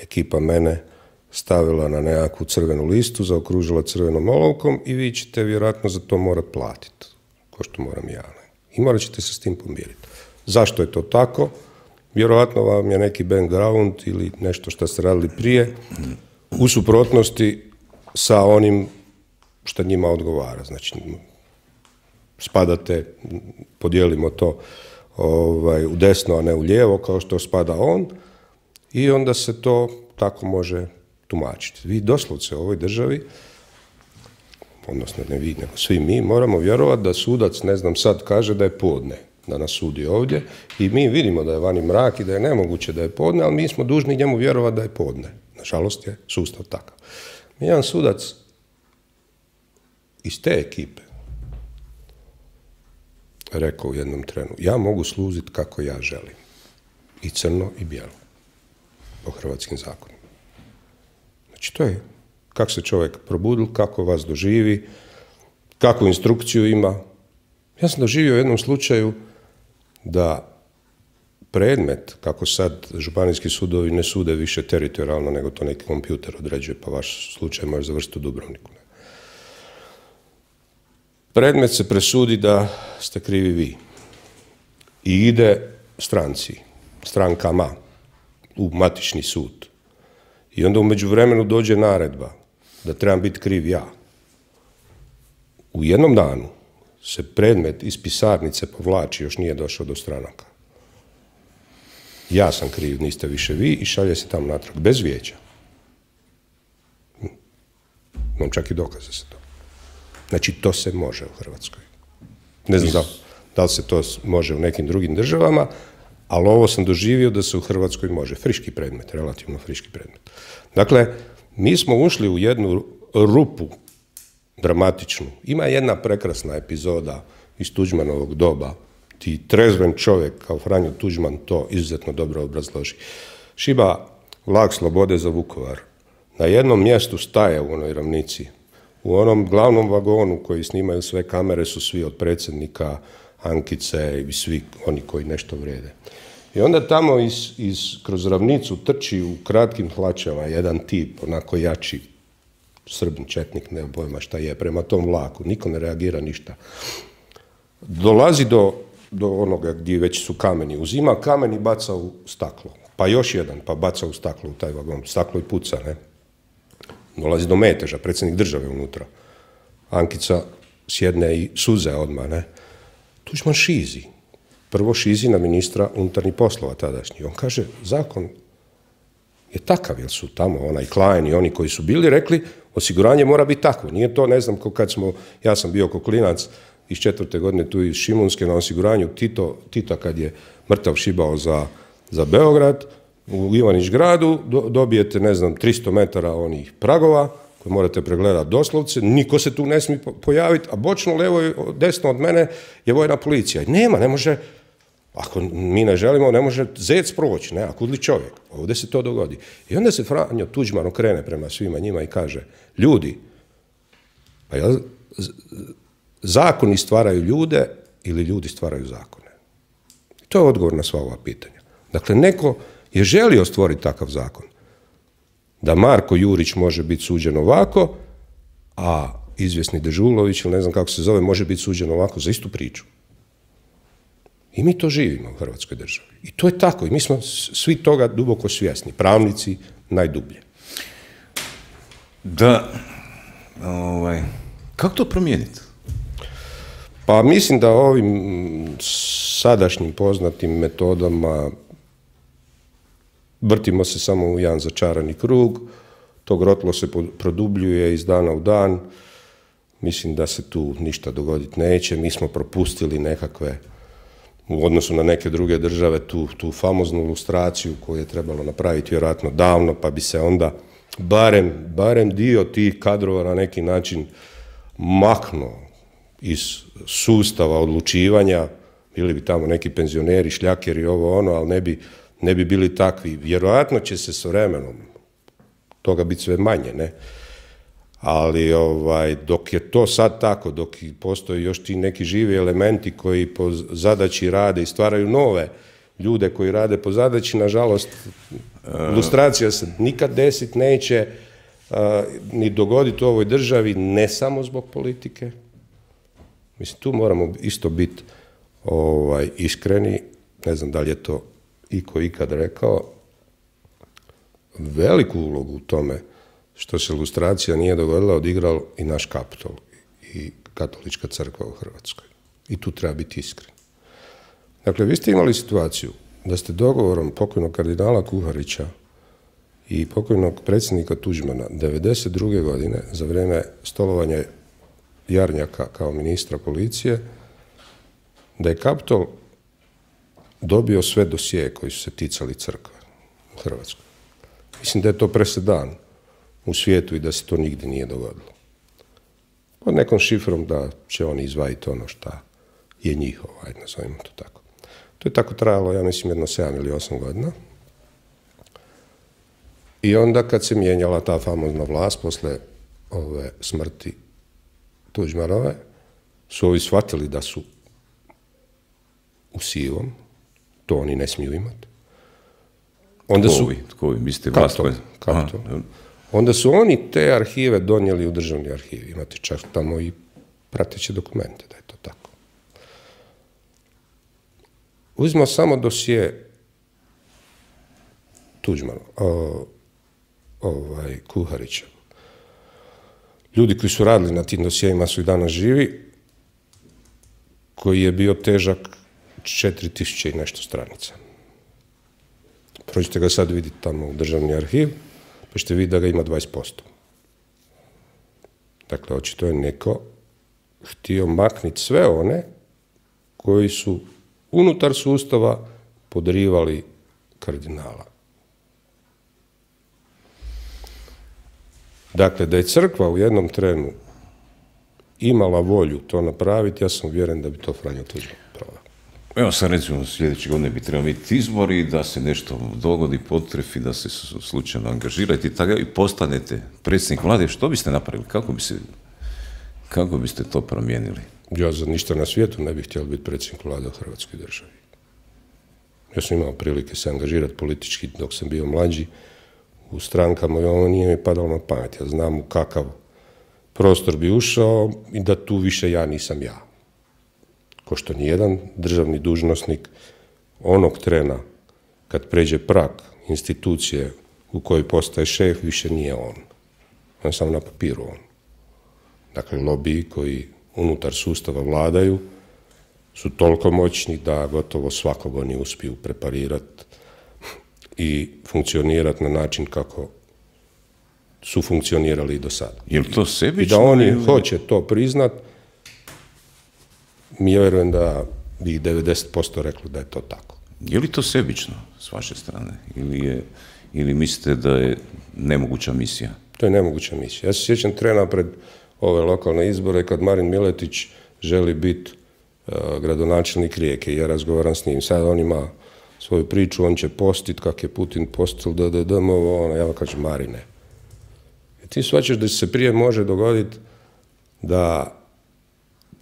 ekipa mene, stavila na nekakvu crvenu listu, zaokružila crvenom olovkom i vi ćete vjerojatno za to morati platiti, kao što moram ja. I morat ćete se s tim pomiriti. Zašto je to tako? Vjerojatno vam je neki background ili nešto što ste radili prije u suprotnosti sa onim što njima odgovara. Znači, spadate, podijelimo to u desno, a ne u lijevo, kao što spada on, i onda se to tako može tumačiti. Vi doslovce u ovoj državi, odnosno ne vi, nego svi mi, moramo vjerovati da sudac, ne znam, sad kaže da je podne, da nas sudi ovdje, i mi vidimo da je vani mrak i da je nemoguće da je podne, ali mi smo dužni njemu vjerovati da je podne. Nažalost je sustav takav. Jedan sudac iz te ekipe rekao u jednom trenu, ja mogu sluziti kako ja želim. I crno i bijelo. Po hrvatskim zakonima. Znači to je kako se čovjek probudil, kako vas doživi, kakvu instrukciju ima. Ja sam doživio u jednom slučaju da predmet, kako sad županijski sudovi ne sude više teritorijalno, nego to neki kompjuter određuje, pa vaš slučaj može završiti u Dubrovniku. Predmet se presudi da ste krivi vi. I ide strankama u matični sud. I onda u međuvremenu dođe naredba da trebam biti kriv ja. U jednom danu se predmet iz pisarnice povlači, još nije došao do stranaka. Ja sam kriv, niste više vi, i šalje se tamo natrag, bez vijeća. Imam čak i dokaze za to. Znači, to se može u Hrvatskoj. Ne znam da li se to može u nekim drugim državama, ali ovo sam doživio da se u Hrvatskoj može. Friški predmet, relativno friški predmet. Dakle, mi smo ušli u jednu rupu dramatičnu. Ima jedna prekrasna epizoda iz Tuđmanovog doba. Ti trezven čovjek kao Franjo Tuđman to izuzetno dobro obrazloži. Šiba vlak slobode za Vukovar. Na jednom mjestu staje u onoj ravnici. U onom glavnom vagonu koji snimaju sve kamere su svi od predsjednika, Ankice i svi oni koji nešto vrijede. I onda tamo kroz ravnicu trči u kratkim hlačama jedan tip, onako jači, Srbin, četnik, ne pojma šta je, prema tom vlaku. Niko ne reagira ništa. Dolazi do onoga gdje već su kameni. Uzima kamen i baca u staklo. Pa još jedan, pa baca u staklo u taj vagon. Staklo i puca, ne? Dolazi do meteža, predsjednik države unutra. Ankica sjedne i suze odmah, ne? Tuđman šizi. Prvo šizi na ministra unutarnjih poslova tadašnji. On kaže, zakon je takav, jer su tamo onaj Klein i oni koji su bili rekli, osiguranje mora biti takvo. Nije to, ne znam, ja sam bio ko klinac iz 4. godine tu iz Šimunske na osiguranju Tita kad je mrtav šibao za Beograd, u Ivanić gradu dobijete, ne znam, 300 metara onih pragova koje morate pregledati doslovce, niko se tu ne smije pojaviti, a bočno, levo i desno od mene je vojna policija. I ne može, ako mi ne želimo, ne može zec proći, ne, a kudli čovjek. Ovdje se to dogodi. I onda se Franjo Tuđman okrene prema svima njima i kaže, ljudi, pa jel, zakoni stvaraju ljude ili ljudi stvaraju zakone? I to je odgovor na sva ova pitanja. Dakle, neko je želio stvoriti takav zakon. Da Marko Jurić može biti suđen ovako, a izvjesni Dežulović, ili ne znam kako se zove, može biti suđen ovako za istu priču. I mi to živimo u Hrvatskoj državi. I to je tako. I mi smo svi toga duboko svjesni. Pravnici najdublje. Da, kako to promijeniti? Pa mislim da ovim sadašnjim poznatim metodama vrtimo se samo u jedan začarani krug, to grotlo se produbljuje iz dana u dan, mislim da se tu ništa dogoditi neće, mi smo propustili nekakve, u odnosu na neke druge države, tu famoznu lustraciju koju je trebalo napraviti vjerojatno davno, pa bi se onda barem dio tih kadrova na neki način maknuo iz sustava odlučivanja, bili bi tamo neki penzioneri, šljakeri, ovo ono, ali ne bi bili takvi. Vjerojatno će se s vremenom toga biti sve manje, ne? Ali dok je to sad tako, dok postoji još ti neki živi elementi koji po zadaći rade i stvaraju nove ljude koji rade po zadaći, nažalost, lustracija se nikad desiti neće, ni dogoditi u ovoj državi, ne samo zbog politike. Mislim, tu moramo isto biti iskreni, ne znam da li je to iko ikad rekao, veliku ulogu u tome što se lustracija nije dogodila odigrao i naš Kaptol i Katolička crkva u Hrvatskoj. I tu treba biti iskren. Dakle, vi ste imali situaciju da ste dogovorom pokojnog kardinala Kuharića i pokojnog predsjednika Tuđmana 1992. godine za vrijeme stolovanja Jarnjaka kao ministra policije, da je Kaptol dobio sve dosije koji su se ticali crkve u Hrvatskoj. Mislim da je to presedan u svijetu i da se to nigdje nije dogodilo. Pod nekom šifrom da će oni izvaditi ono šta je njihovo, ajde nazovimo to tako. To je tako trajalo, ja mislim, jedno 7 ili 8 godina. I onda kad se mijenjala ta famozna vlast posle ove smrti Tuđmanove, su ovi shvatili da su u sivom, to oni ne smiju imati. Tko vi? Mislite vlast? Onda su oni te arhive donijeli u državni arhiv. Imate čak tamo i prateće dokumente da je to tako. Uzmimo samo dosje Tuđmana, Kuharića. Ljudi koji su radili na tim dosjejima su i danas živi, koji je bio težak 4000 i nešto stranica. Prođite ga sad vidjeti tamo u državni arhiv, pa ćete vidjeti da ga ima 20%. Dakle, očito je neko htio makniti sve one koji su unutar sustava podrivali kardinala. Dakle, da je crkva u jednom trenu imala volju to napraviti, ja sam uvjeren da bi to Franjo Tuđman proveo. Evo sad recimo sljedeće godine bi trebalo biti izbori, da se nešto dogodi, potrefi, da se slučajno angažirate i postanete predsjednik vlade. Što biste napravili? Kako biste to promijenili? Ja za ništa na svijetu ne bih htjela biti predsjednik vlade u Hrvatskoj državi. Ja sam imao prilike se angažirati politički dok sam bio mlađi u strankama i ovo nije mi padalo na pamet. Ja znam u kakav prostor bi ušao i da tu više ja nisam ja. Ko što nijedan državni dužnosnik onog trena kad pređe prag institucije u kojoj postaje šef, više nije on. On je samo na papiru on. Dakle, lobiji koji unutar sustava vladaju su toliko moćni da gotovo svakog oni uspiju preparirati i funkcionirati na način kako su funkcionirali i do sada. Je li to sebično? I da oni hoće to priznat, mi vjerujem da bi 90% reklo da je to tako. Je li to sebično s vaše strane? Ili mislite da je nemoguća misija? To je nemoguća misija. Ja se sjećam trena pred ove lokalne izbore kad Marin Miletić želi biti gradonačelnik Rijeke i ja razgovaram s njim. Sad on ima svoju priču, on će postit kak je Putin postil, ja vam kažem, Marine. I ti shvaćaš da se prije može dogoditi da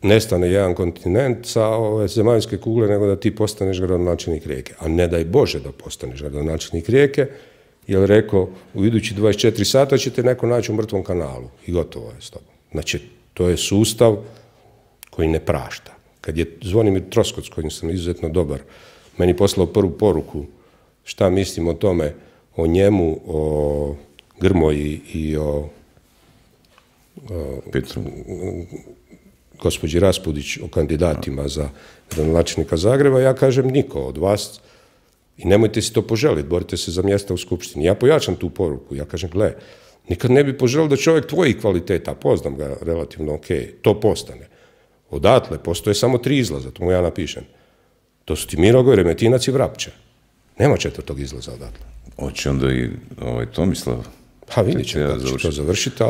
nestane jedan kontinent sa ove zemaljske kugle, nego da ti postaneš gradonačelnik Rijeke. A ne daj Bože da postaneš gradonačelnik Rijeke, jer rekao, u idući 24 sata ćete neko naći u mrtvom kanalu i gotovo je s tobom. Znači, to je sustav koji ne prašta. Kad je Zvonimir Troskot, s kojim sam izuzetno dobar, meni poslao prvu poruku šta mislim o tome, o njemu, o Grmoji i o Petru, gospođi Raspudić, o kandidatima za gradonačelnika Zagreba, ja kažem niko od vas i nemojte si to poželiti, borite se za mjesta u skupštini. Ja pojačam tu poruku, ja kažem, gle, nikad ne bi poželio da čovjek tvojih kvaliteta, poznam ga relativno ok, to postane. Odatle postoje samo 3 izlaza, to mu ja napišem. To su ti Mirogoj, Remetinac i Vrapče. Nema 4. izlaza odatle. Hoće onda i Tomislav? Pa vidjet će kako će to završiti,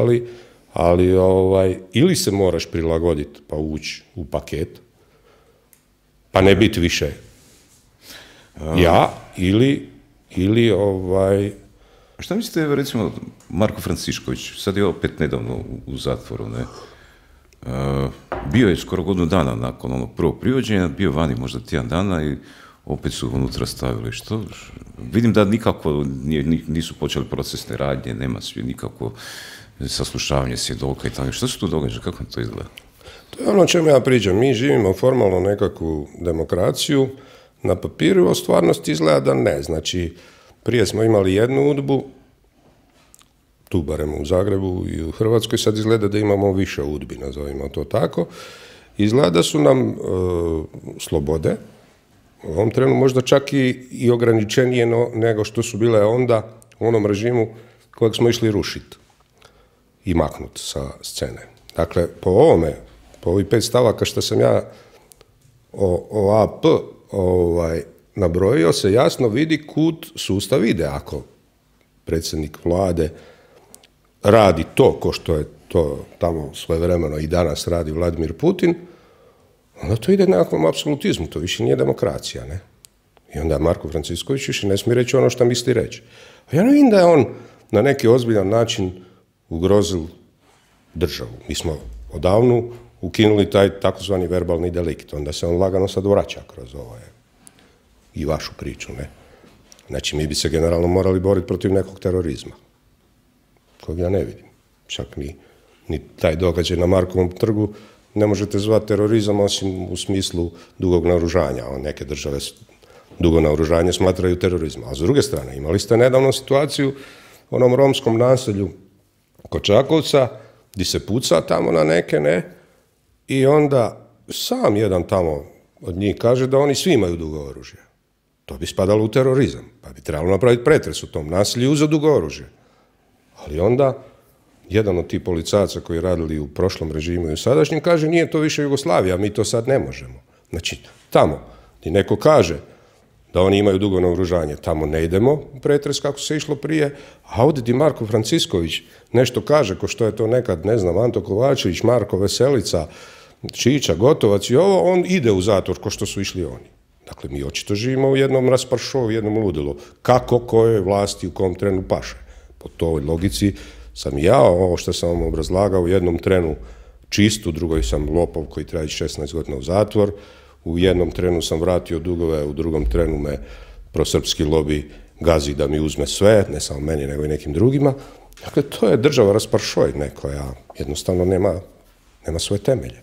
ali ili se moraš prilagoditi pa ući u paket, pa ne biti više ja, ili Šta mislite, recimo, Marko Francišković, sad je opet nedavno u zatvoru, ne? Bio je skoro godinu dana nakon onog prvog privođenja, bio vani možda tjedan dana i opet su unutra stavili. Što? Vidim da nikako nisu počeli procesne radnje, nema svi nikako saslušavanje svjedoka i tako. Što se tu događa? Kako to izgleda? To je ono o čemu ja pričam. Mi živimo formalno nekakvu demokraciju, na papiru, a stvarnosti izgleda da ne. Znači, prije smo imali jednu udbu, tu barem u Zagrebu i u Hrvatskoj, sad izgleda da imamo više udbi, nazovimo to tako. Izgleda da su nam slobode u ovom trenu možda čak i ograničenije nego što su bile onda u onom režimu kojeg smo išli rušiti i maknuti sa scene. Dakle, po ovih 5 stavaka što sam ja o AP nabrojio, se jasno vidi kud sustav ide. Ako predsjednik vlade radi to, ko što je to tamo svojevremeno i danas radi Vladimir Putin, onda to ide nekakvom apsolutizmu, to više nije demokracija, ne? I onda Marko Francišković više ne smije reći ono što misli reći. A ja ne vidim da je on na neki ozbiljan način ugrozil državu. Mi smo odavno ukinuli taj takozvani verbalni delikt. Onda se on lagano sad vraća kroz i vašu priču, ne? Znači, mi bi se generalno morali boriti protiv nekog terorizma, kog ja ne vidim. Čak ni taj događaj na Markovom trgu ne možete zvati terorizam osim u smislu dugog naoružanja. Neke države dugo naoružanje smatraju terorizmom. A s druge strane, imali ste nedavno situaciju u onom romskom naselju kod Čakovca, gdje se puca tamo na neke, ne? I onda sam jedan tamo od njih kaže da oni svi imaju dugo oružje. To bi spadalo u terorizam. Pa bi trebalo napraviti pretres u tom naselju i uzeti dugo oružje. Ali onda jedan od tih policajaca koji radili u prošlom režimu i u sadašnjem kaže nije to više Jugoslavija, mi to sad ne možemo. Znači, tamo gdje neko kaže da oni imaju dugo naoružanje, tamo ne idemo u pretres kako se išlo prije, a ovdje di Marko Francisković nešto kaže, ko što je to nekad, ne znam, Anto Kovačević, Marko Veselica, Čiča, Gotovac i ovo, on ide u zatvor ko što su išli oni. Dakle, mi očito živimo u jednom rasparšovu, jednom ludilu. Kako, kojoj vlasti, u kom trenu paše. Po toj logici sam ja, ovo što sam vam obrazlagao, u jednom trenu čist, u drugoj sam lopov koji traji 16 godina u zatvor, u jednom trenu sam vratio dugove, u drugom trenu me prosrpski lobi gazi da mi uzme sve, ne samo meni, nego i nekim drugima. Dakle, to je država rasparšoj koja jednostavno nema svoje temelje.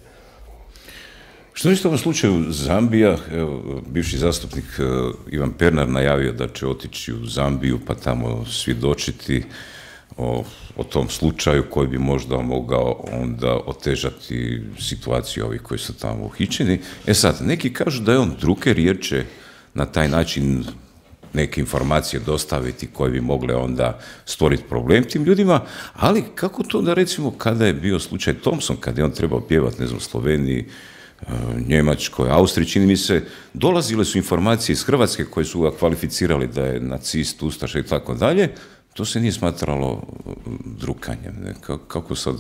Što mislite u ovom slučaju Zambija? Bivši zastupnik Ivan Pernar najavio da će otići u Zambiju pa tamo svjedočiti o tom slučaju koji bi možda mogao onda otežati situaciju ovih koji su tamo uhićeni. Sad, neki kažu da je on druker jer će na taj način neke informacije dostaviti koje bi mogle onda stvoriti problem tim ljudima, ali kako to da recimo kada je bio slučaj Thompson, kada je on trebao pjevati, ne znam, Sloveniji, Njemačkoj, Austriji, čini mi se, dolazile su informacije iz Hrvatske koje su ga kvalificirali da je nacist, ustaša i tako dalje, to se nije smatralo drukanjem. Kako sad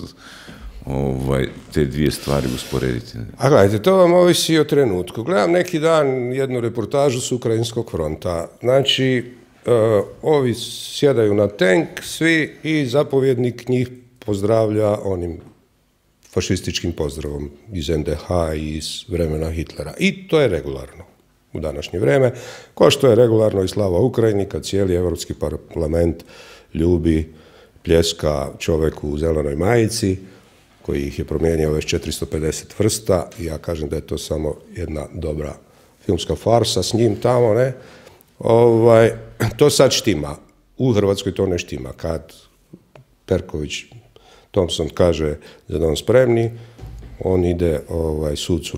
te dvije stvari usporediti? A gledajte, to vam ovisi o trenutku. Gledam neki dan jednu reportažu s Ukrajinskog fronta. Znači, ovi sjedaju na tank, svi, i zapovjednik njih pozdravlja onim fašističkim pozdravom iz NDH i iz vremena Hitlera. I to je regularno u današnje vrijeme, kao što je regularno i slava Ukrajini, kad cijeli Europski parlament ljubi, pljeska čovjeku u zelenoj majici, koji ih je promijenio već 450 vrsta, i ja kažem da je to samo jedna dobra filmska farsa s njim tamo, ne? To sad štima. U Hrvatskoj to ne štima. Kad Perković Thompson kaže da on spremni, on ide sucu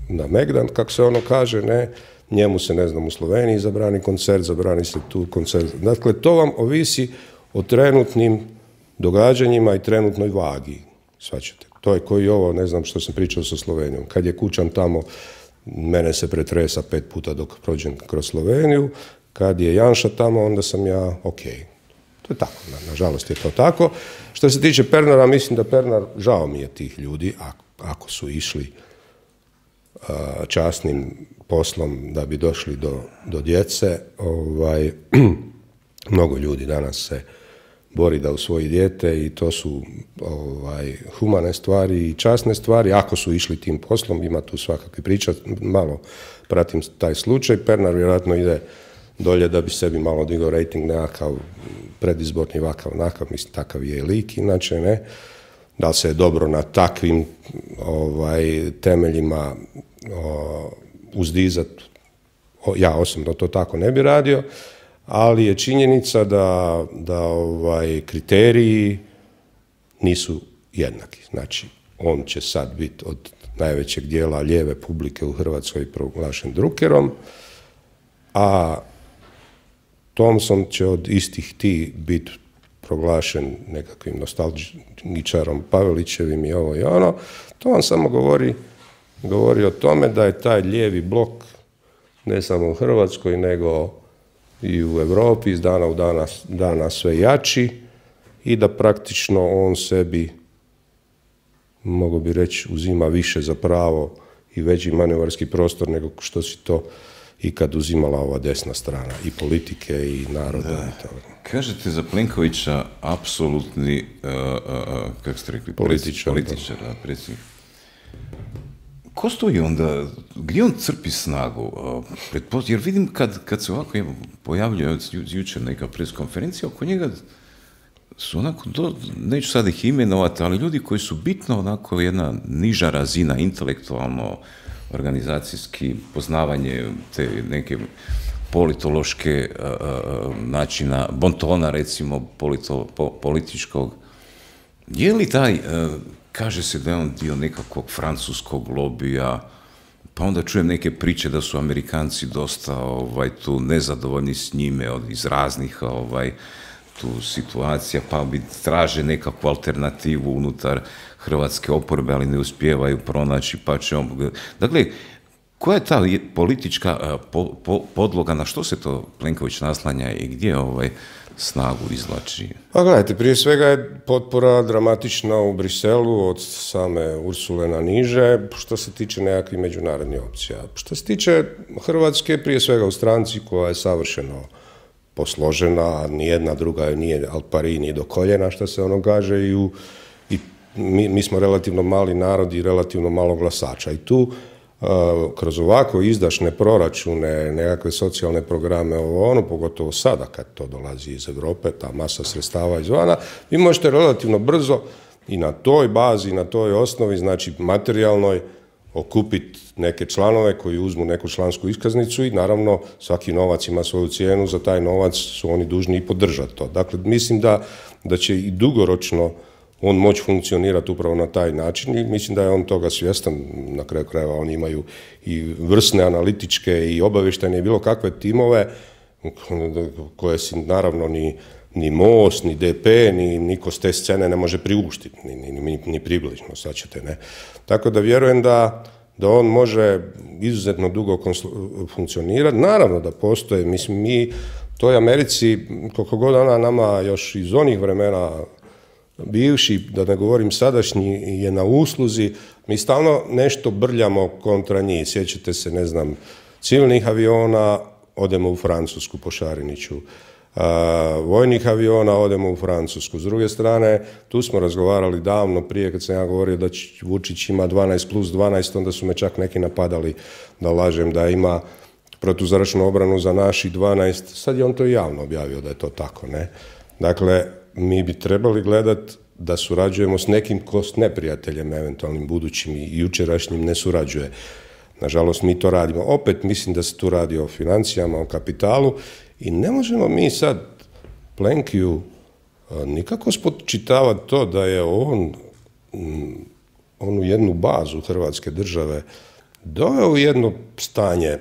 na Megdan, kako se ono kaže, ne, njemu se, ne znam, u Sloveniji zabrani koncert, zabrani se tu koncert. Dakle, to vam ovisi o trenutnim događanjima i trenutnoj vagi, shvaćate. To je koji ovo, ne znam što sam pričao sa Slovenijom. Kad je Kučan tamo, mene se pretresa 5 puta dok prođem kroz Sloveniju, kad je Janša tamo, onda sam ja okej. To je tako, nažalost je to tako. Što se tiče Pernara, mislim da Pernar, žao mi je tih ljudi, ako su išli časnim poslom da bi došli do djece. Mnogo ljudi danas se bori da usvoji dijete i to su humane stvari i časne stvari. Ako su išli tim poslom, ima tu svakakve priča, malo pratim taj slučaj. Pernar vjerojatno ide dolje da bi sebi malo digao rating, nekakav predizborni vakav, mislim, takav je lik, inače ne. Da li se je dobro na takvim temeljima uzdizat, ja osobno to tako ne bi radio, ali je činjenica da kriteriji nisu jednaki. Znači, on će sad biti od najvećeg dijela lijeve publike u Hrvatskoj proglašen drukerom, a Thompson će od istih ti biti proglašen nekakvim nostalgičarom Pavelićevim i ovo i ono. To vam samo govori o tome da je taj lijevi blok ne samo u Hrvatskoj, nego i u Europi iz dana u dana sve jači i da praktično on sebi, mogu bi reći, uzima više za pravo i veći manevarski prostor nego što si to ikad uzimala ova desna strana i politike i naroda. Da. Kažete za Plenkovića apsolutni, kako ste rekli, političar, predsjednik. ko stoji onda, gdje on crpi snagu? Jer vidim kad se ovako pojavljuje jučer neka preskonferencija, oko njega su onako, neću sad ih imenovati, ali ljudi koji su bitno onako jedna niža razina, intelektualno, organizacijski, poznavanje te neke politološke načina, bontona recimo političkog. Je li taj, kaže se da je on dio nekakvog francuskog lobija, pa onda čujem neke priče da su Amerikanci dosta tu nezadovoljni s njime iz raznih tu situacija, pa bi traže nekakvu alternativu unutar hrvatske oporbe, ali ne uspijevaju pronaći, pa će on... Dakle, koja je ta politička podloga, na što se to Plenković naslanja i gdje snagu izvlači? Pa gledajte, prije svega je potpora dramatična u Briselu od same Ursule na niže, što se tiče nekakvih međunarodnih opcija. Što se tiče Hrvatske, prije svega u stranci koja je savršeno posložena, nijedna druga nije al pari ni do koljena, što se ono kaže, i mi smo relativno mali narod i relativno malo glasača. I tu kroz ovako izdašne proračune, nekakve socijalne programe, pogotovo sada kad to dolazi iz Europe, ta masa sredstava izvana, vi možete relativno brzo i na toj bazi, na toj osnovi, znači materijalnoj, okupiti neke članove koji uzmu neku člansku iskaznicu i naravno svaki novac ima svoju cijenu, za taj novac su oni dužni i podržati to. Dakle, mislim da će i dugoročno on moći funkcionirati upravo na taj način i mislim da je on toga svjestan. Na kraju krajeva oni imaju i vrsne analitičke i obavještajne i bilo kakve timove koje si naravno ni Most, ni DP, ni niko s te scene ne može priuštiti, ni približno, sad ćete, ne. Tako da vjerujem da on može izuzetno dugo funkcionirati. Naravno da postoje, mislim, mi toj Americi, koliko god ona nama još iz onih vremena bivši, da ne govorim sadašnji, je na usluzi, mi stalno nešto brljamo kontra njih. Sjećate se, ne znam, civilnih aviona, odemo u Francusku po Šariniću, vojnih aviona, odemo u Francusku. S druge strane, tu smo razgovarali davno prije, kad sam ja govorio da Vučić ima 12+12, onda su me čak neki napadali da lažem da ima protuzračnu obranu za naših 12. Sad je on to javno objavio da je to tako, ne? Dakle, mi bi trebali gledati da surađujemo s nekim ko s neprijateljem, eventualnim budućim i jučerašnjim ne surađuje. Nažalost, mi to radimo. Opet mislim da se tu radi o financijama, o kapitalu i ne možemo mi sad Plenkiju nikako spočitavati to da je on onu jednu bazu Hrvatske države doveo u jedno stanje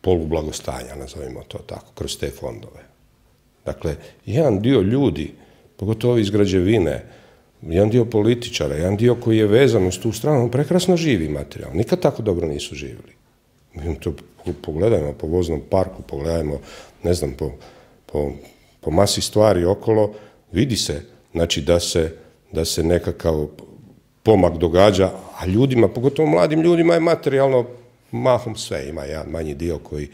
polublagostanja, nazovimo to tako, kroz te fondove. Dakle, jedan dio ljudi, pogotovo iz građevine, jedan dio političara, jedan dio koji je vezan uz tu stranu, prekrasno živi materijalno. Nikad tako dobro nisu živjeli. Mi to pogledajmo po voznom parku, pogledajmo, ne znam, po masi stvari okolo, vidi se, znači da se nekakav pomak događa, a ljudima, pogotovo mladim ljudima, je materijalno mahom sve. Ima jedan manji dio koji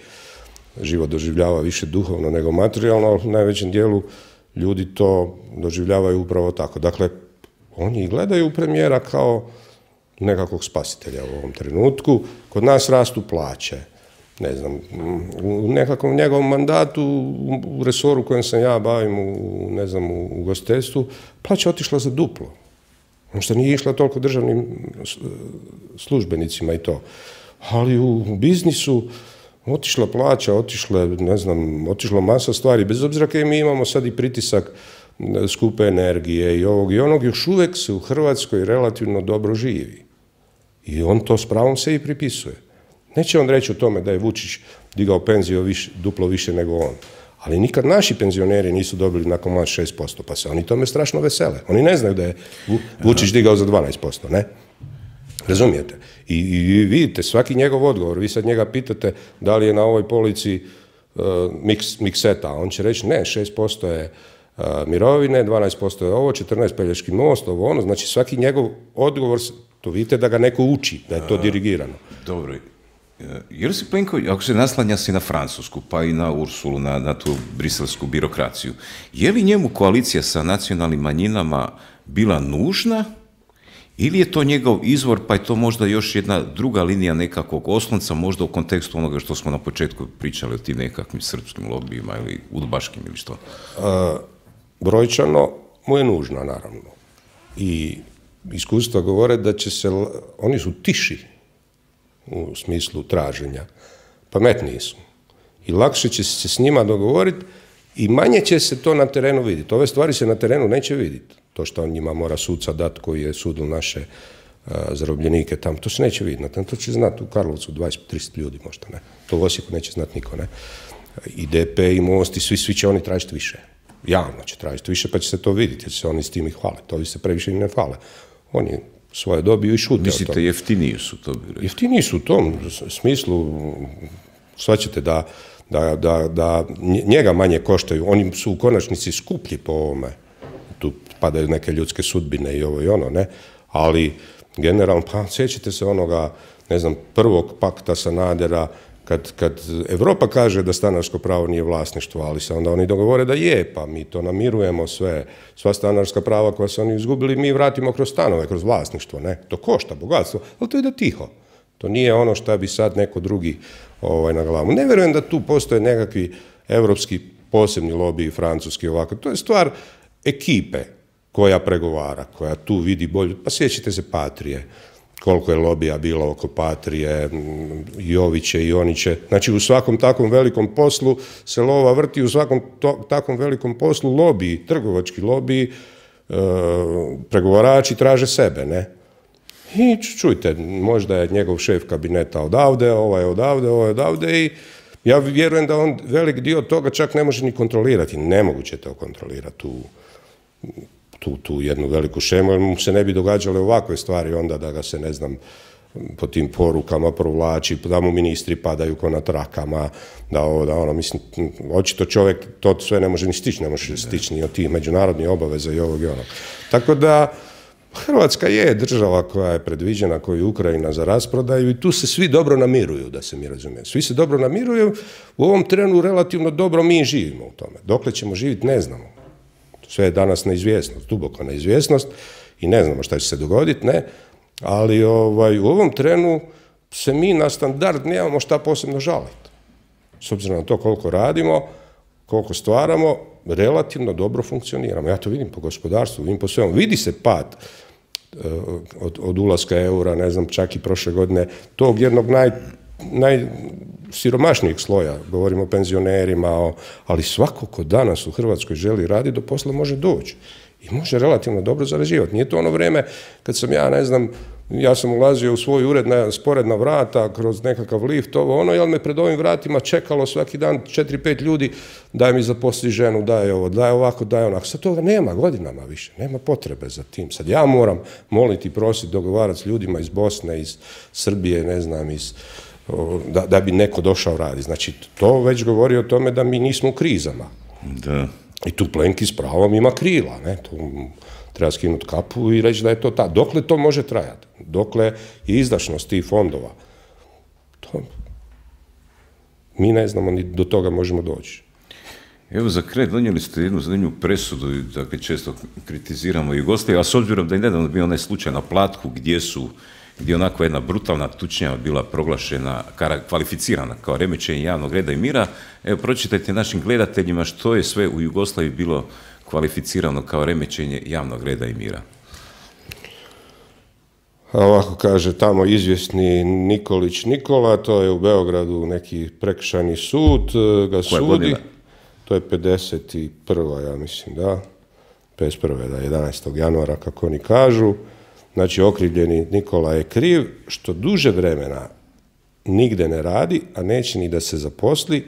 život doživljava više duhovno nego materijalno, ali u najvećem dijelu ljudi to doživljavaju upravo tako. Dakle, oni gledaju premijera kao nekakvog spasitelja u ovom trenutku. Kod nas rastu plaće. Ne znam, u nekakvom njegovom mandatu, u resoru kojem se ja bavim, u ugostiteljstvu, plaća otišla za duplo. Što nije išla toliko državnim službenicima i to. Ali u biznisu otišla plaća, otišla masa stvari. Bez obzira kaj mi imamo sad i pritisak skupe energije i ovog i onog, još uvijek se u Hrvatskoj relativno dobro živi. I on to s pravom se i pripisuje. Neće on reći o tome da je Vučić digao penziju duplo više nego on. Ali nikad naši penzioneri nisu dobili nakon mlađ 6%, pa se oni tome strašno vesele. Oni ne znaju da je Vučić digao za 12%, ne? Razumijete? I vidite, svaki njegov odgovor, vi sad njega pitate da li je na ovoj polici mikseta, on će reći ne, 6% je mirovine, 12% je ovo, 14% Pelješki most, ovo ono, znači svaki njegov odgovor, to vidite da ga neko uči, da je to dirigirano. Dobro, jer si Plenković, ako se naslanja si na Francusku, pa i na Ursulu, na tu briselsku birokraciju, je li njemu koalicija sa nacionalnim manjinama bila nužna Ili je to njegov izvor, pa je to možda još jedna druga linija nekakvog oslonca, možda u kontekstu onoga što smo na početku pričali o tim nekakvim srpskim lobijima ili udbaškim ili što? Brojčano mu je nužna, naravno. I iskustva govore da će se, oni su tiši u smislu traženja, pametniji su. I lakše će se s njima dogovoriti i manje će se to na terenu vidjeti. Ove stvari se na terenu neće vidjeti. To što on njima mora suca dati koji je sudil naše zarobljenike tamo, to se neće vidjeti. To će znati u Karlovcu 20-30 ljudi možda, ne. To u Osijeku neće znati niko, ne. I DP i Most i svi će oni tražiti više. Javno će tražiti više, pa će se to vidjeti, jer se oni s tim i hvale. To se previše i ne hvale. Oni svoje dobiju i šute. Mislite, jeftiniji su to? Jeftiniji su u tom smislu, shvaćate da njega manje koštaju. Oni su u konačnici skuplji po ovome. Tu padaju neke ljudske sudbine i ovo i ono, ne? Ali generalno, pa sjećate se onoga, ne znam, prvog pakta Sanadera, kad Europa kaže da stanarsko pravo nije vlasništvo, ali se onda oni dogovore da je, pa mi to namirujemo sva stanarska prava koja su oni izgubili, mi vratimo kroz stanove, kroz vlasništvo, ne? To košta bogatstvo, ali to ide tiho. To nije ono što bi sad neko drugi na glavu. Ne vjerujem da tu postoje nekakvi evropski posebni lobiji, francuski ovako. To je stvar ekipe koja pregovara, koja tu vidi bolju. Pa sjećate se Patrije, koliko je lobija bilo oko Patrije, Joviće i Oniće. Znači u svakom takvom velikom poslu se lova vrti, u svakom takvom velikom poslu lobiji, trgovački lobiji, pregovarači traže sebe, ne? I čujte, možda je njegov šef kabineta odavde, ovaj je odavde i ja vjerujem da on velik dio toga čak ne može ni kontrolirati. Nemoguće to kontrolirati tu jednu veliku šemu, jer mu se ne bi događale ovakve stvari onda da ga se, ne znam, po tim porukama provlači, da mu ministri padaju ko na trakama, da ono, mislim, očito čovjek to sve ne može ni stići, ne može stići ni od tih međunarodnih obaveza i ovog i onog. Tako da, Hrvatska je država koja je predviđena, koju je Ukrajina za rasprodaju i tu se svi dobro namiruju, da se mi razumije. Svi se dobro namiruju, u ovom trenu relativno dobro mi živimo u tome. Dokle ćemo živjeti, ne znamo. Sve je danas neizvjesnost, duboko neizvjesnost i ne znamo šta će se dogoditi, ne. Ali u ovom trenu se mi na standard nemamo šta posebno žaliti. S obzirom na to koliko radimo, koliko stvaramo, relativno dobro funkcioniramo. Ja to vidim po gospodarstvu, vidim po svemu. Vidi se pad od ulaska eura, ne znam, čak i prošle godine, tog jednog najsiromašnijeg sloja, govorimo o penzionerima, ali svako ko danas u Hrvatskoj želi raditi, do posla može doći. I može relativno dobro zarađivati. Nije to ono vrijeme kad sam ja sam ulazio u svoj ured na sporedna vrata, kroz nekakav lift, jel me pred ovim vratima čekalo svaki dan 4-5 ljudi, daj mi zaposli ženu, daj ovo, daj ovako, daj onako. Sad toga nema godinama više, nema potrebe za tim. Sad ja moram moliti, prositi, dogovarati s ljudima iz Bosne, iz Srbije, ne znam, da bi neko došao raditi. Znači, to već govori o tome da mi nismo u krizama. Da. I tu Plenki s pravom ima krila, ne, tu treba skinuti kapu i reći da je to ta. Dokle to može trajati? Dokle je izdašnost tih fondova? Mi ne znamo ni do toga možemo doći. Evo za kraj donijeli ste jednu zanimljivu presudu, dakle često kritiziramo Jugoslaviju, a s obzirom da je nedavno bio onaj slučaj na Platku gdje je onako jedna brutalna tučnjava bila proglašena, kvalificirana kao remećenje javnog reda i mira. Evo, pročitajte našim gledateljima što je sve u Jugoslaviji bilo kvalificirano kao remećenje javnog reda i mira. Ovako kaže tamo izvjesni Nikolić Nikola, to je u Beogradu neki prekršajni sud, ga sudi. Godina? To je 51. ja mislim, da. 51. da, 11. januara, kako oni kažu. Znači, okrivljeni Nikola je kriv što duže vremena nigde ne radi, a neće ni da se zaposli,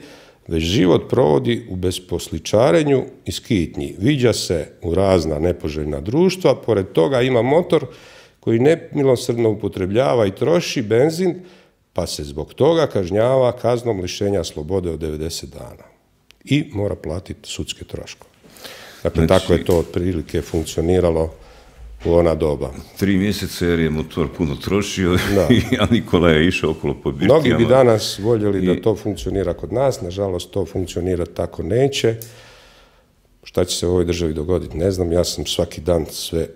već život provodi u besposličarenju i skitnji. Viđa se u razna nepoželjna društva, pored toga ima motor koji nemilosrdno upotrebljava i troši benzin, pa se zbog toga kažnjava kaznom lišenja slobode od 90 dana. I mora platiti sudske troškove. Dakle, znači, tako je to otprilike funkcioniralo u ona doba. 3 mjeseca jer je motor puno trošio, a Nikola je išao okolo po birtijama. Mnogi bi danas voljeli da to funkcionira kod nas, nažalost to funkcionira tako neće. Šta će se u ovoj državi dogoditi, ne znam, ja sam svaki dan sve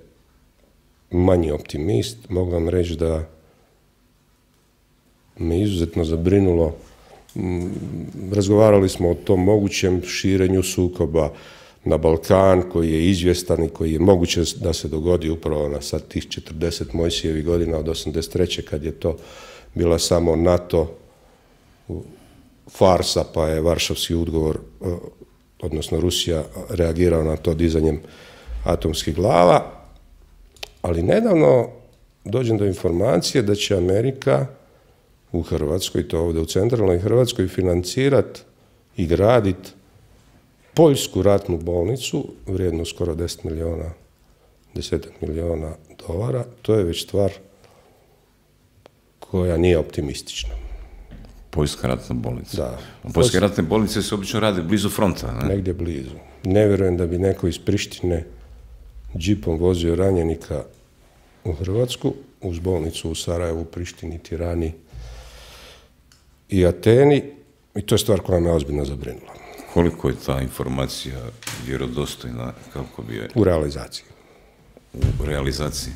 manji optimist, mogu vam reći da me izuzetno zabrinulo. Razgovarali smo o tom mogućem širenju sukoba na Balkan, koji je izvjestan i koji je moguće da se dogodi upravo na sad tih 40 Mojsijevih godina od 83. kad je to bila samo NATO farsa, pa je Varšavski ugovor, odnosno Rusija, reagirao na to dizanjem atomskih glava. Ali nedavno dođem do informacije da će Amerika u Hrvatskoj, to ovdje u centralnoj Hrvatskoj, financirati i graditi poljsku ratnu bolnicu, vrijednu skoro 10 milijuna dolara. To je već stvar koja nije optimistična. Poljska ratna bolnica. Da. Poljske ratne bolnice se obično rade blizu fronta, ne? Negdje blizu. Ne vjerujem da bi neko iz Prištine džipom vozio ranjenika u Hrvatsku, uz bolnicu u Sarajevu, Prištini, Tirani i Ateni, i to je stvar koja me ozbiljno zabrinula. Koliko je ta informacija vjerodostojna, kako bi je... U realizaciji. U realizaciji.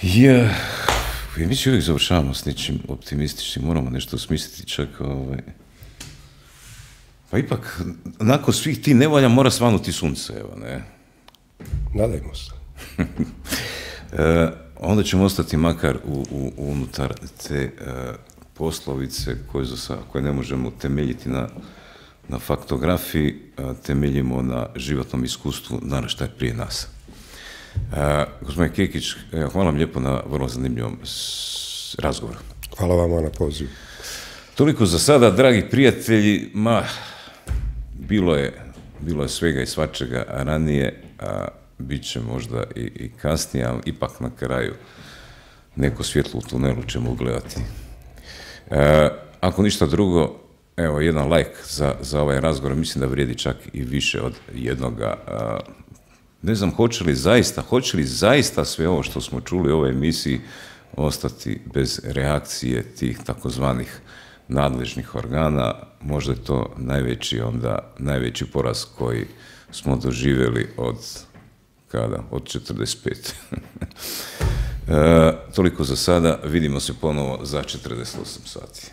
Ja, mi se uvijek završavamo s nečim optimističnim, moramo nešto smisliti čak, pa ipak, nakon svih ti nevolja mora svanuti sunce, evo, ne? Nadajmo se. Onda ćemo ostati makar unutar te poslovice koje ne možemo temeljiti na faktografiji, temeljimo na životnom iskustvu naraštaja prije nas. Gospodin Kekić, hvala vam lijepo na vrlo zanimljivom razgovoru. Hvala vama na pozivu. Toliko za sada, dragi prijatelji, bilo je svega i svačega ranije, a bit će možda i kasnije, ali ipak na kraju neko svjetlo u tunelu ćemo ugledati. Ako ništa drugo, evo, jedan like za ovaj razgovor, mislim da vrijedi čak i više od jednoga. Ne znam, hoće li zaista sve ovo što smo čuli u ovoj emisiji ostati bez reakcije tih takozvanih nadležnih organa. Možda je to najveći poraz koji smo doživjeli od 45. Toliko za sada, vidimo se ponovo za 48 sati.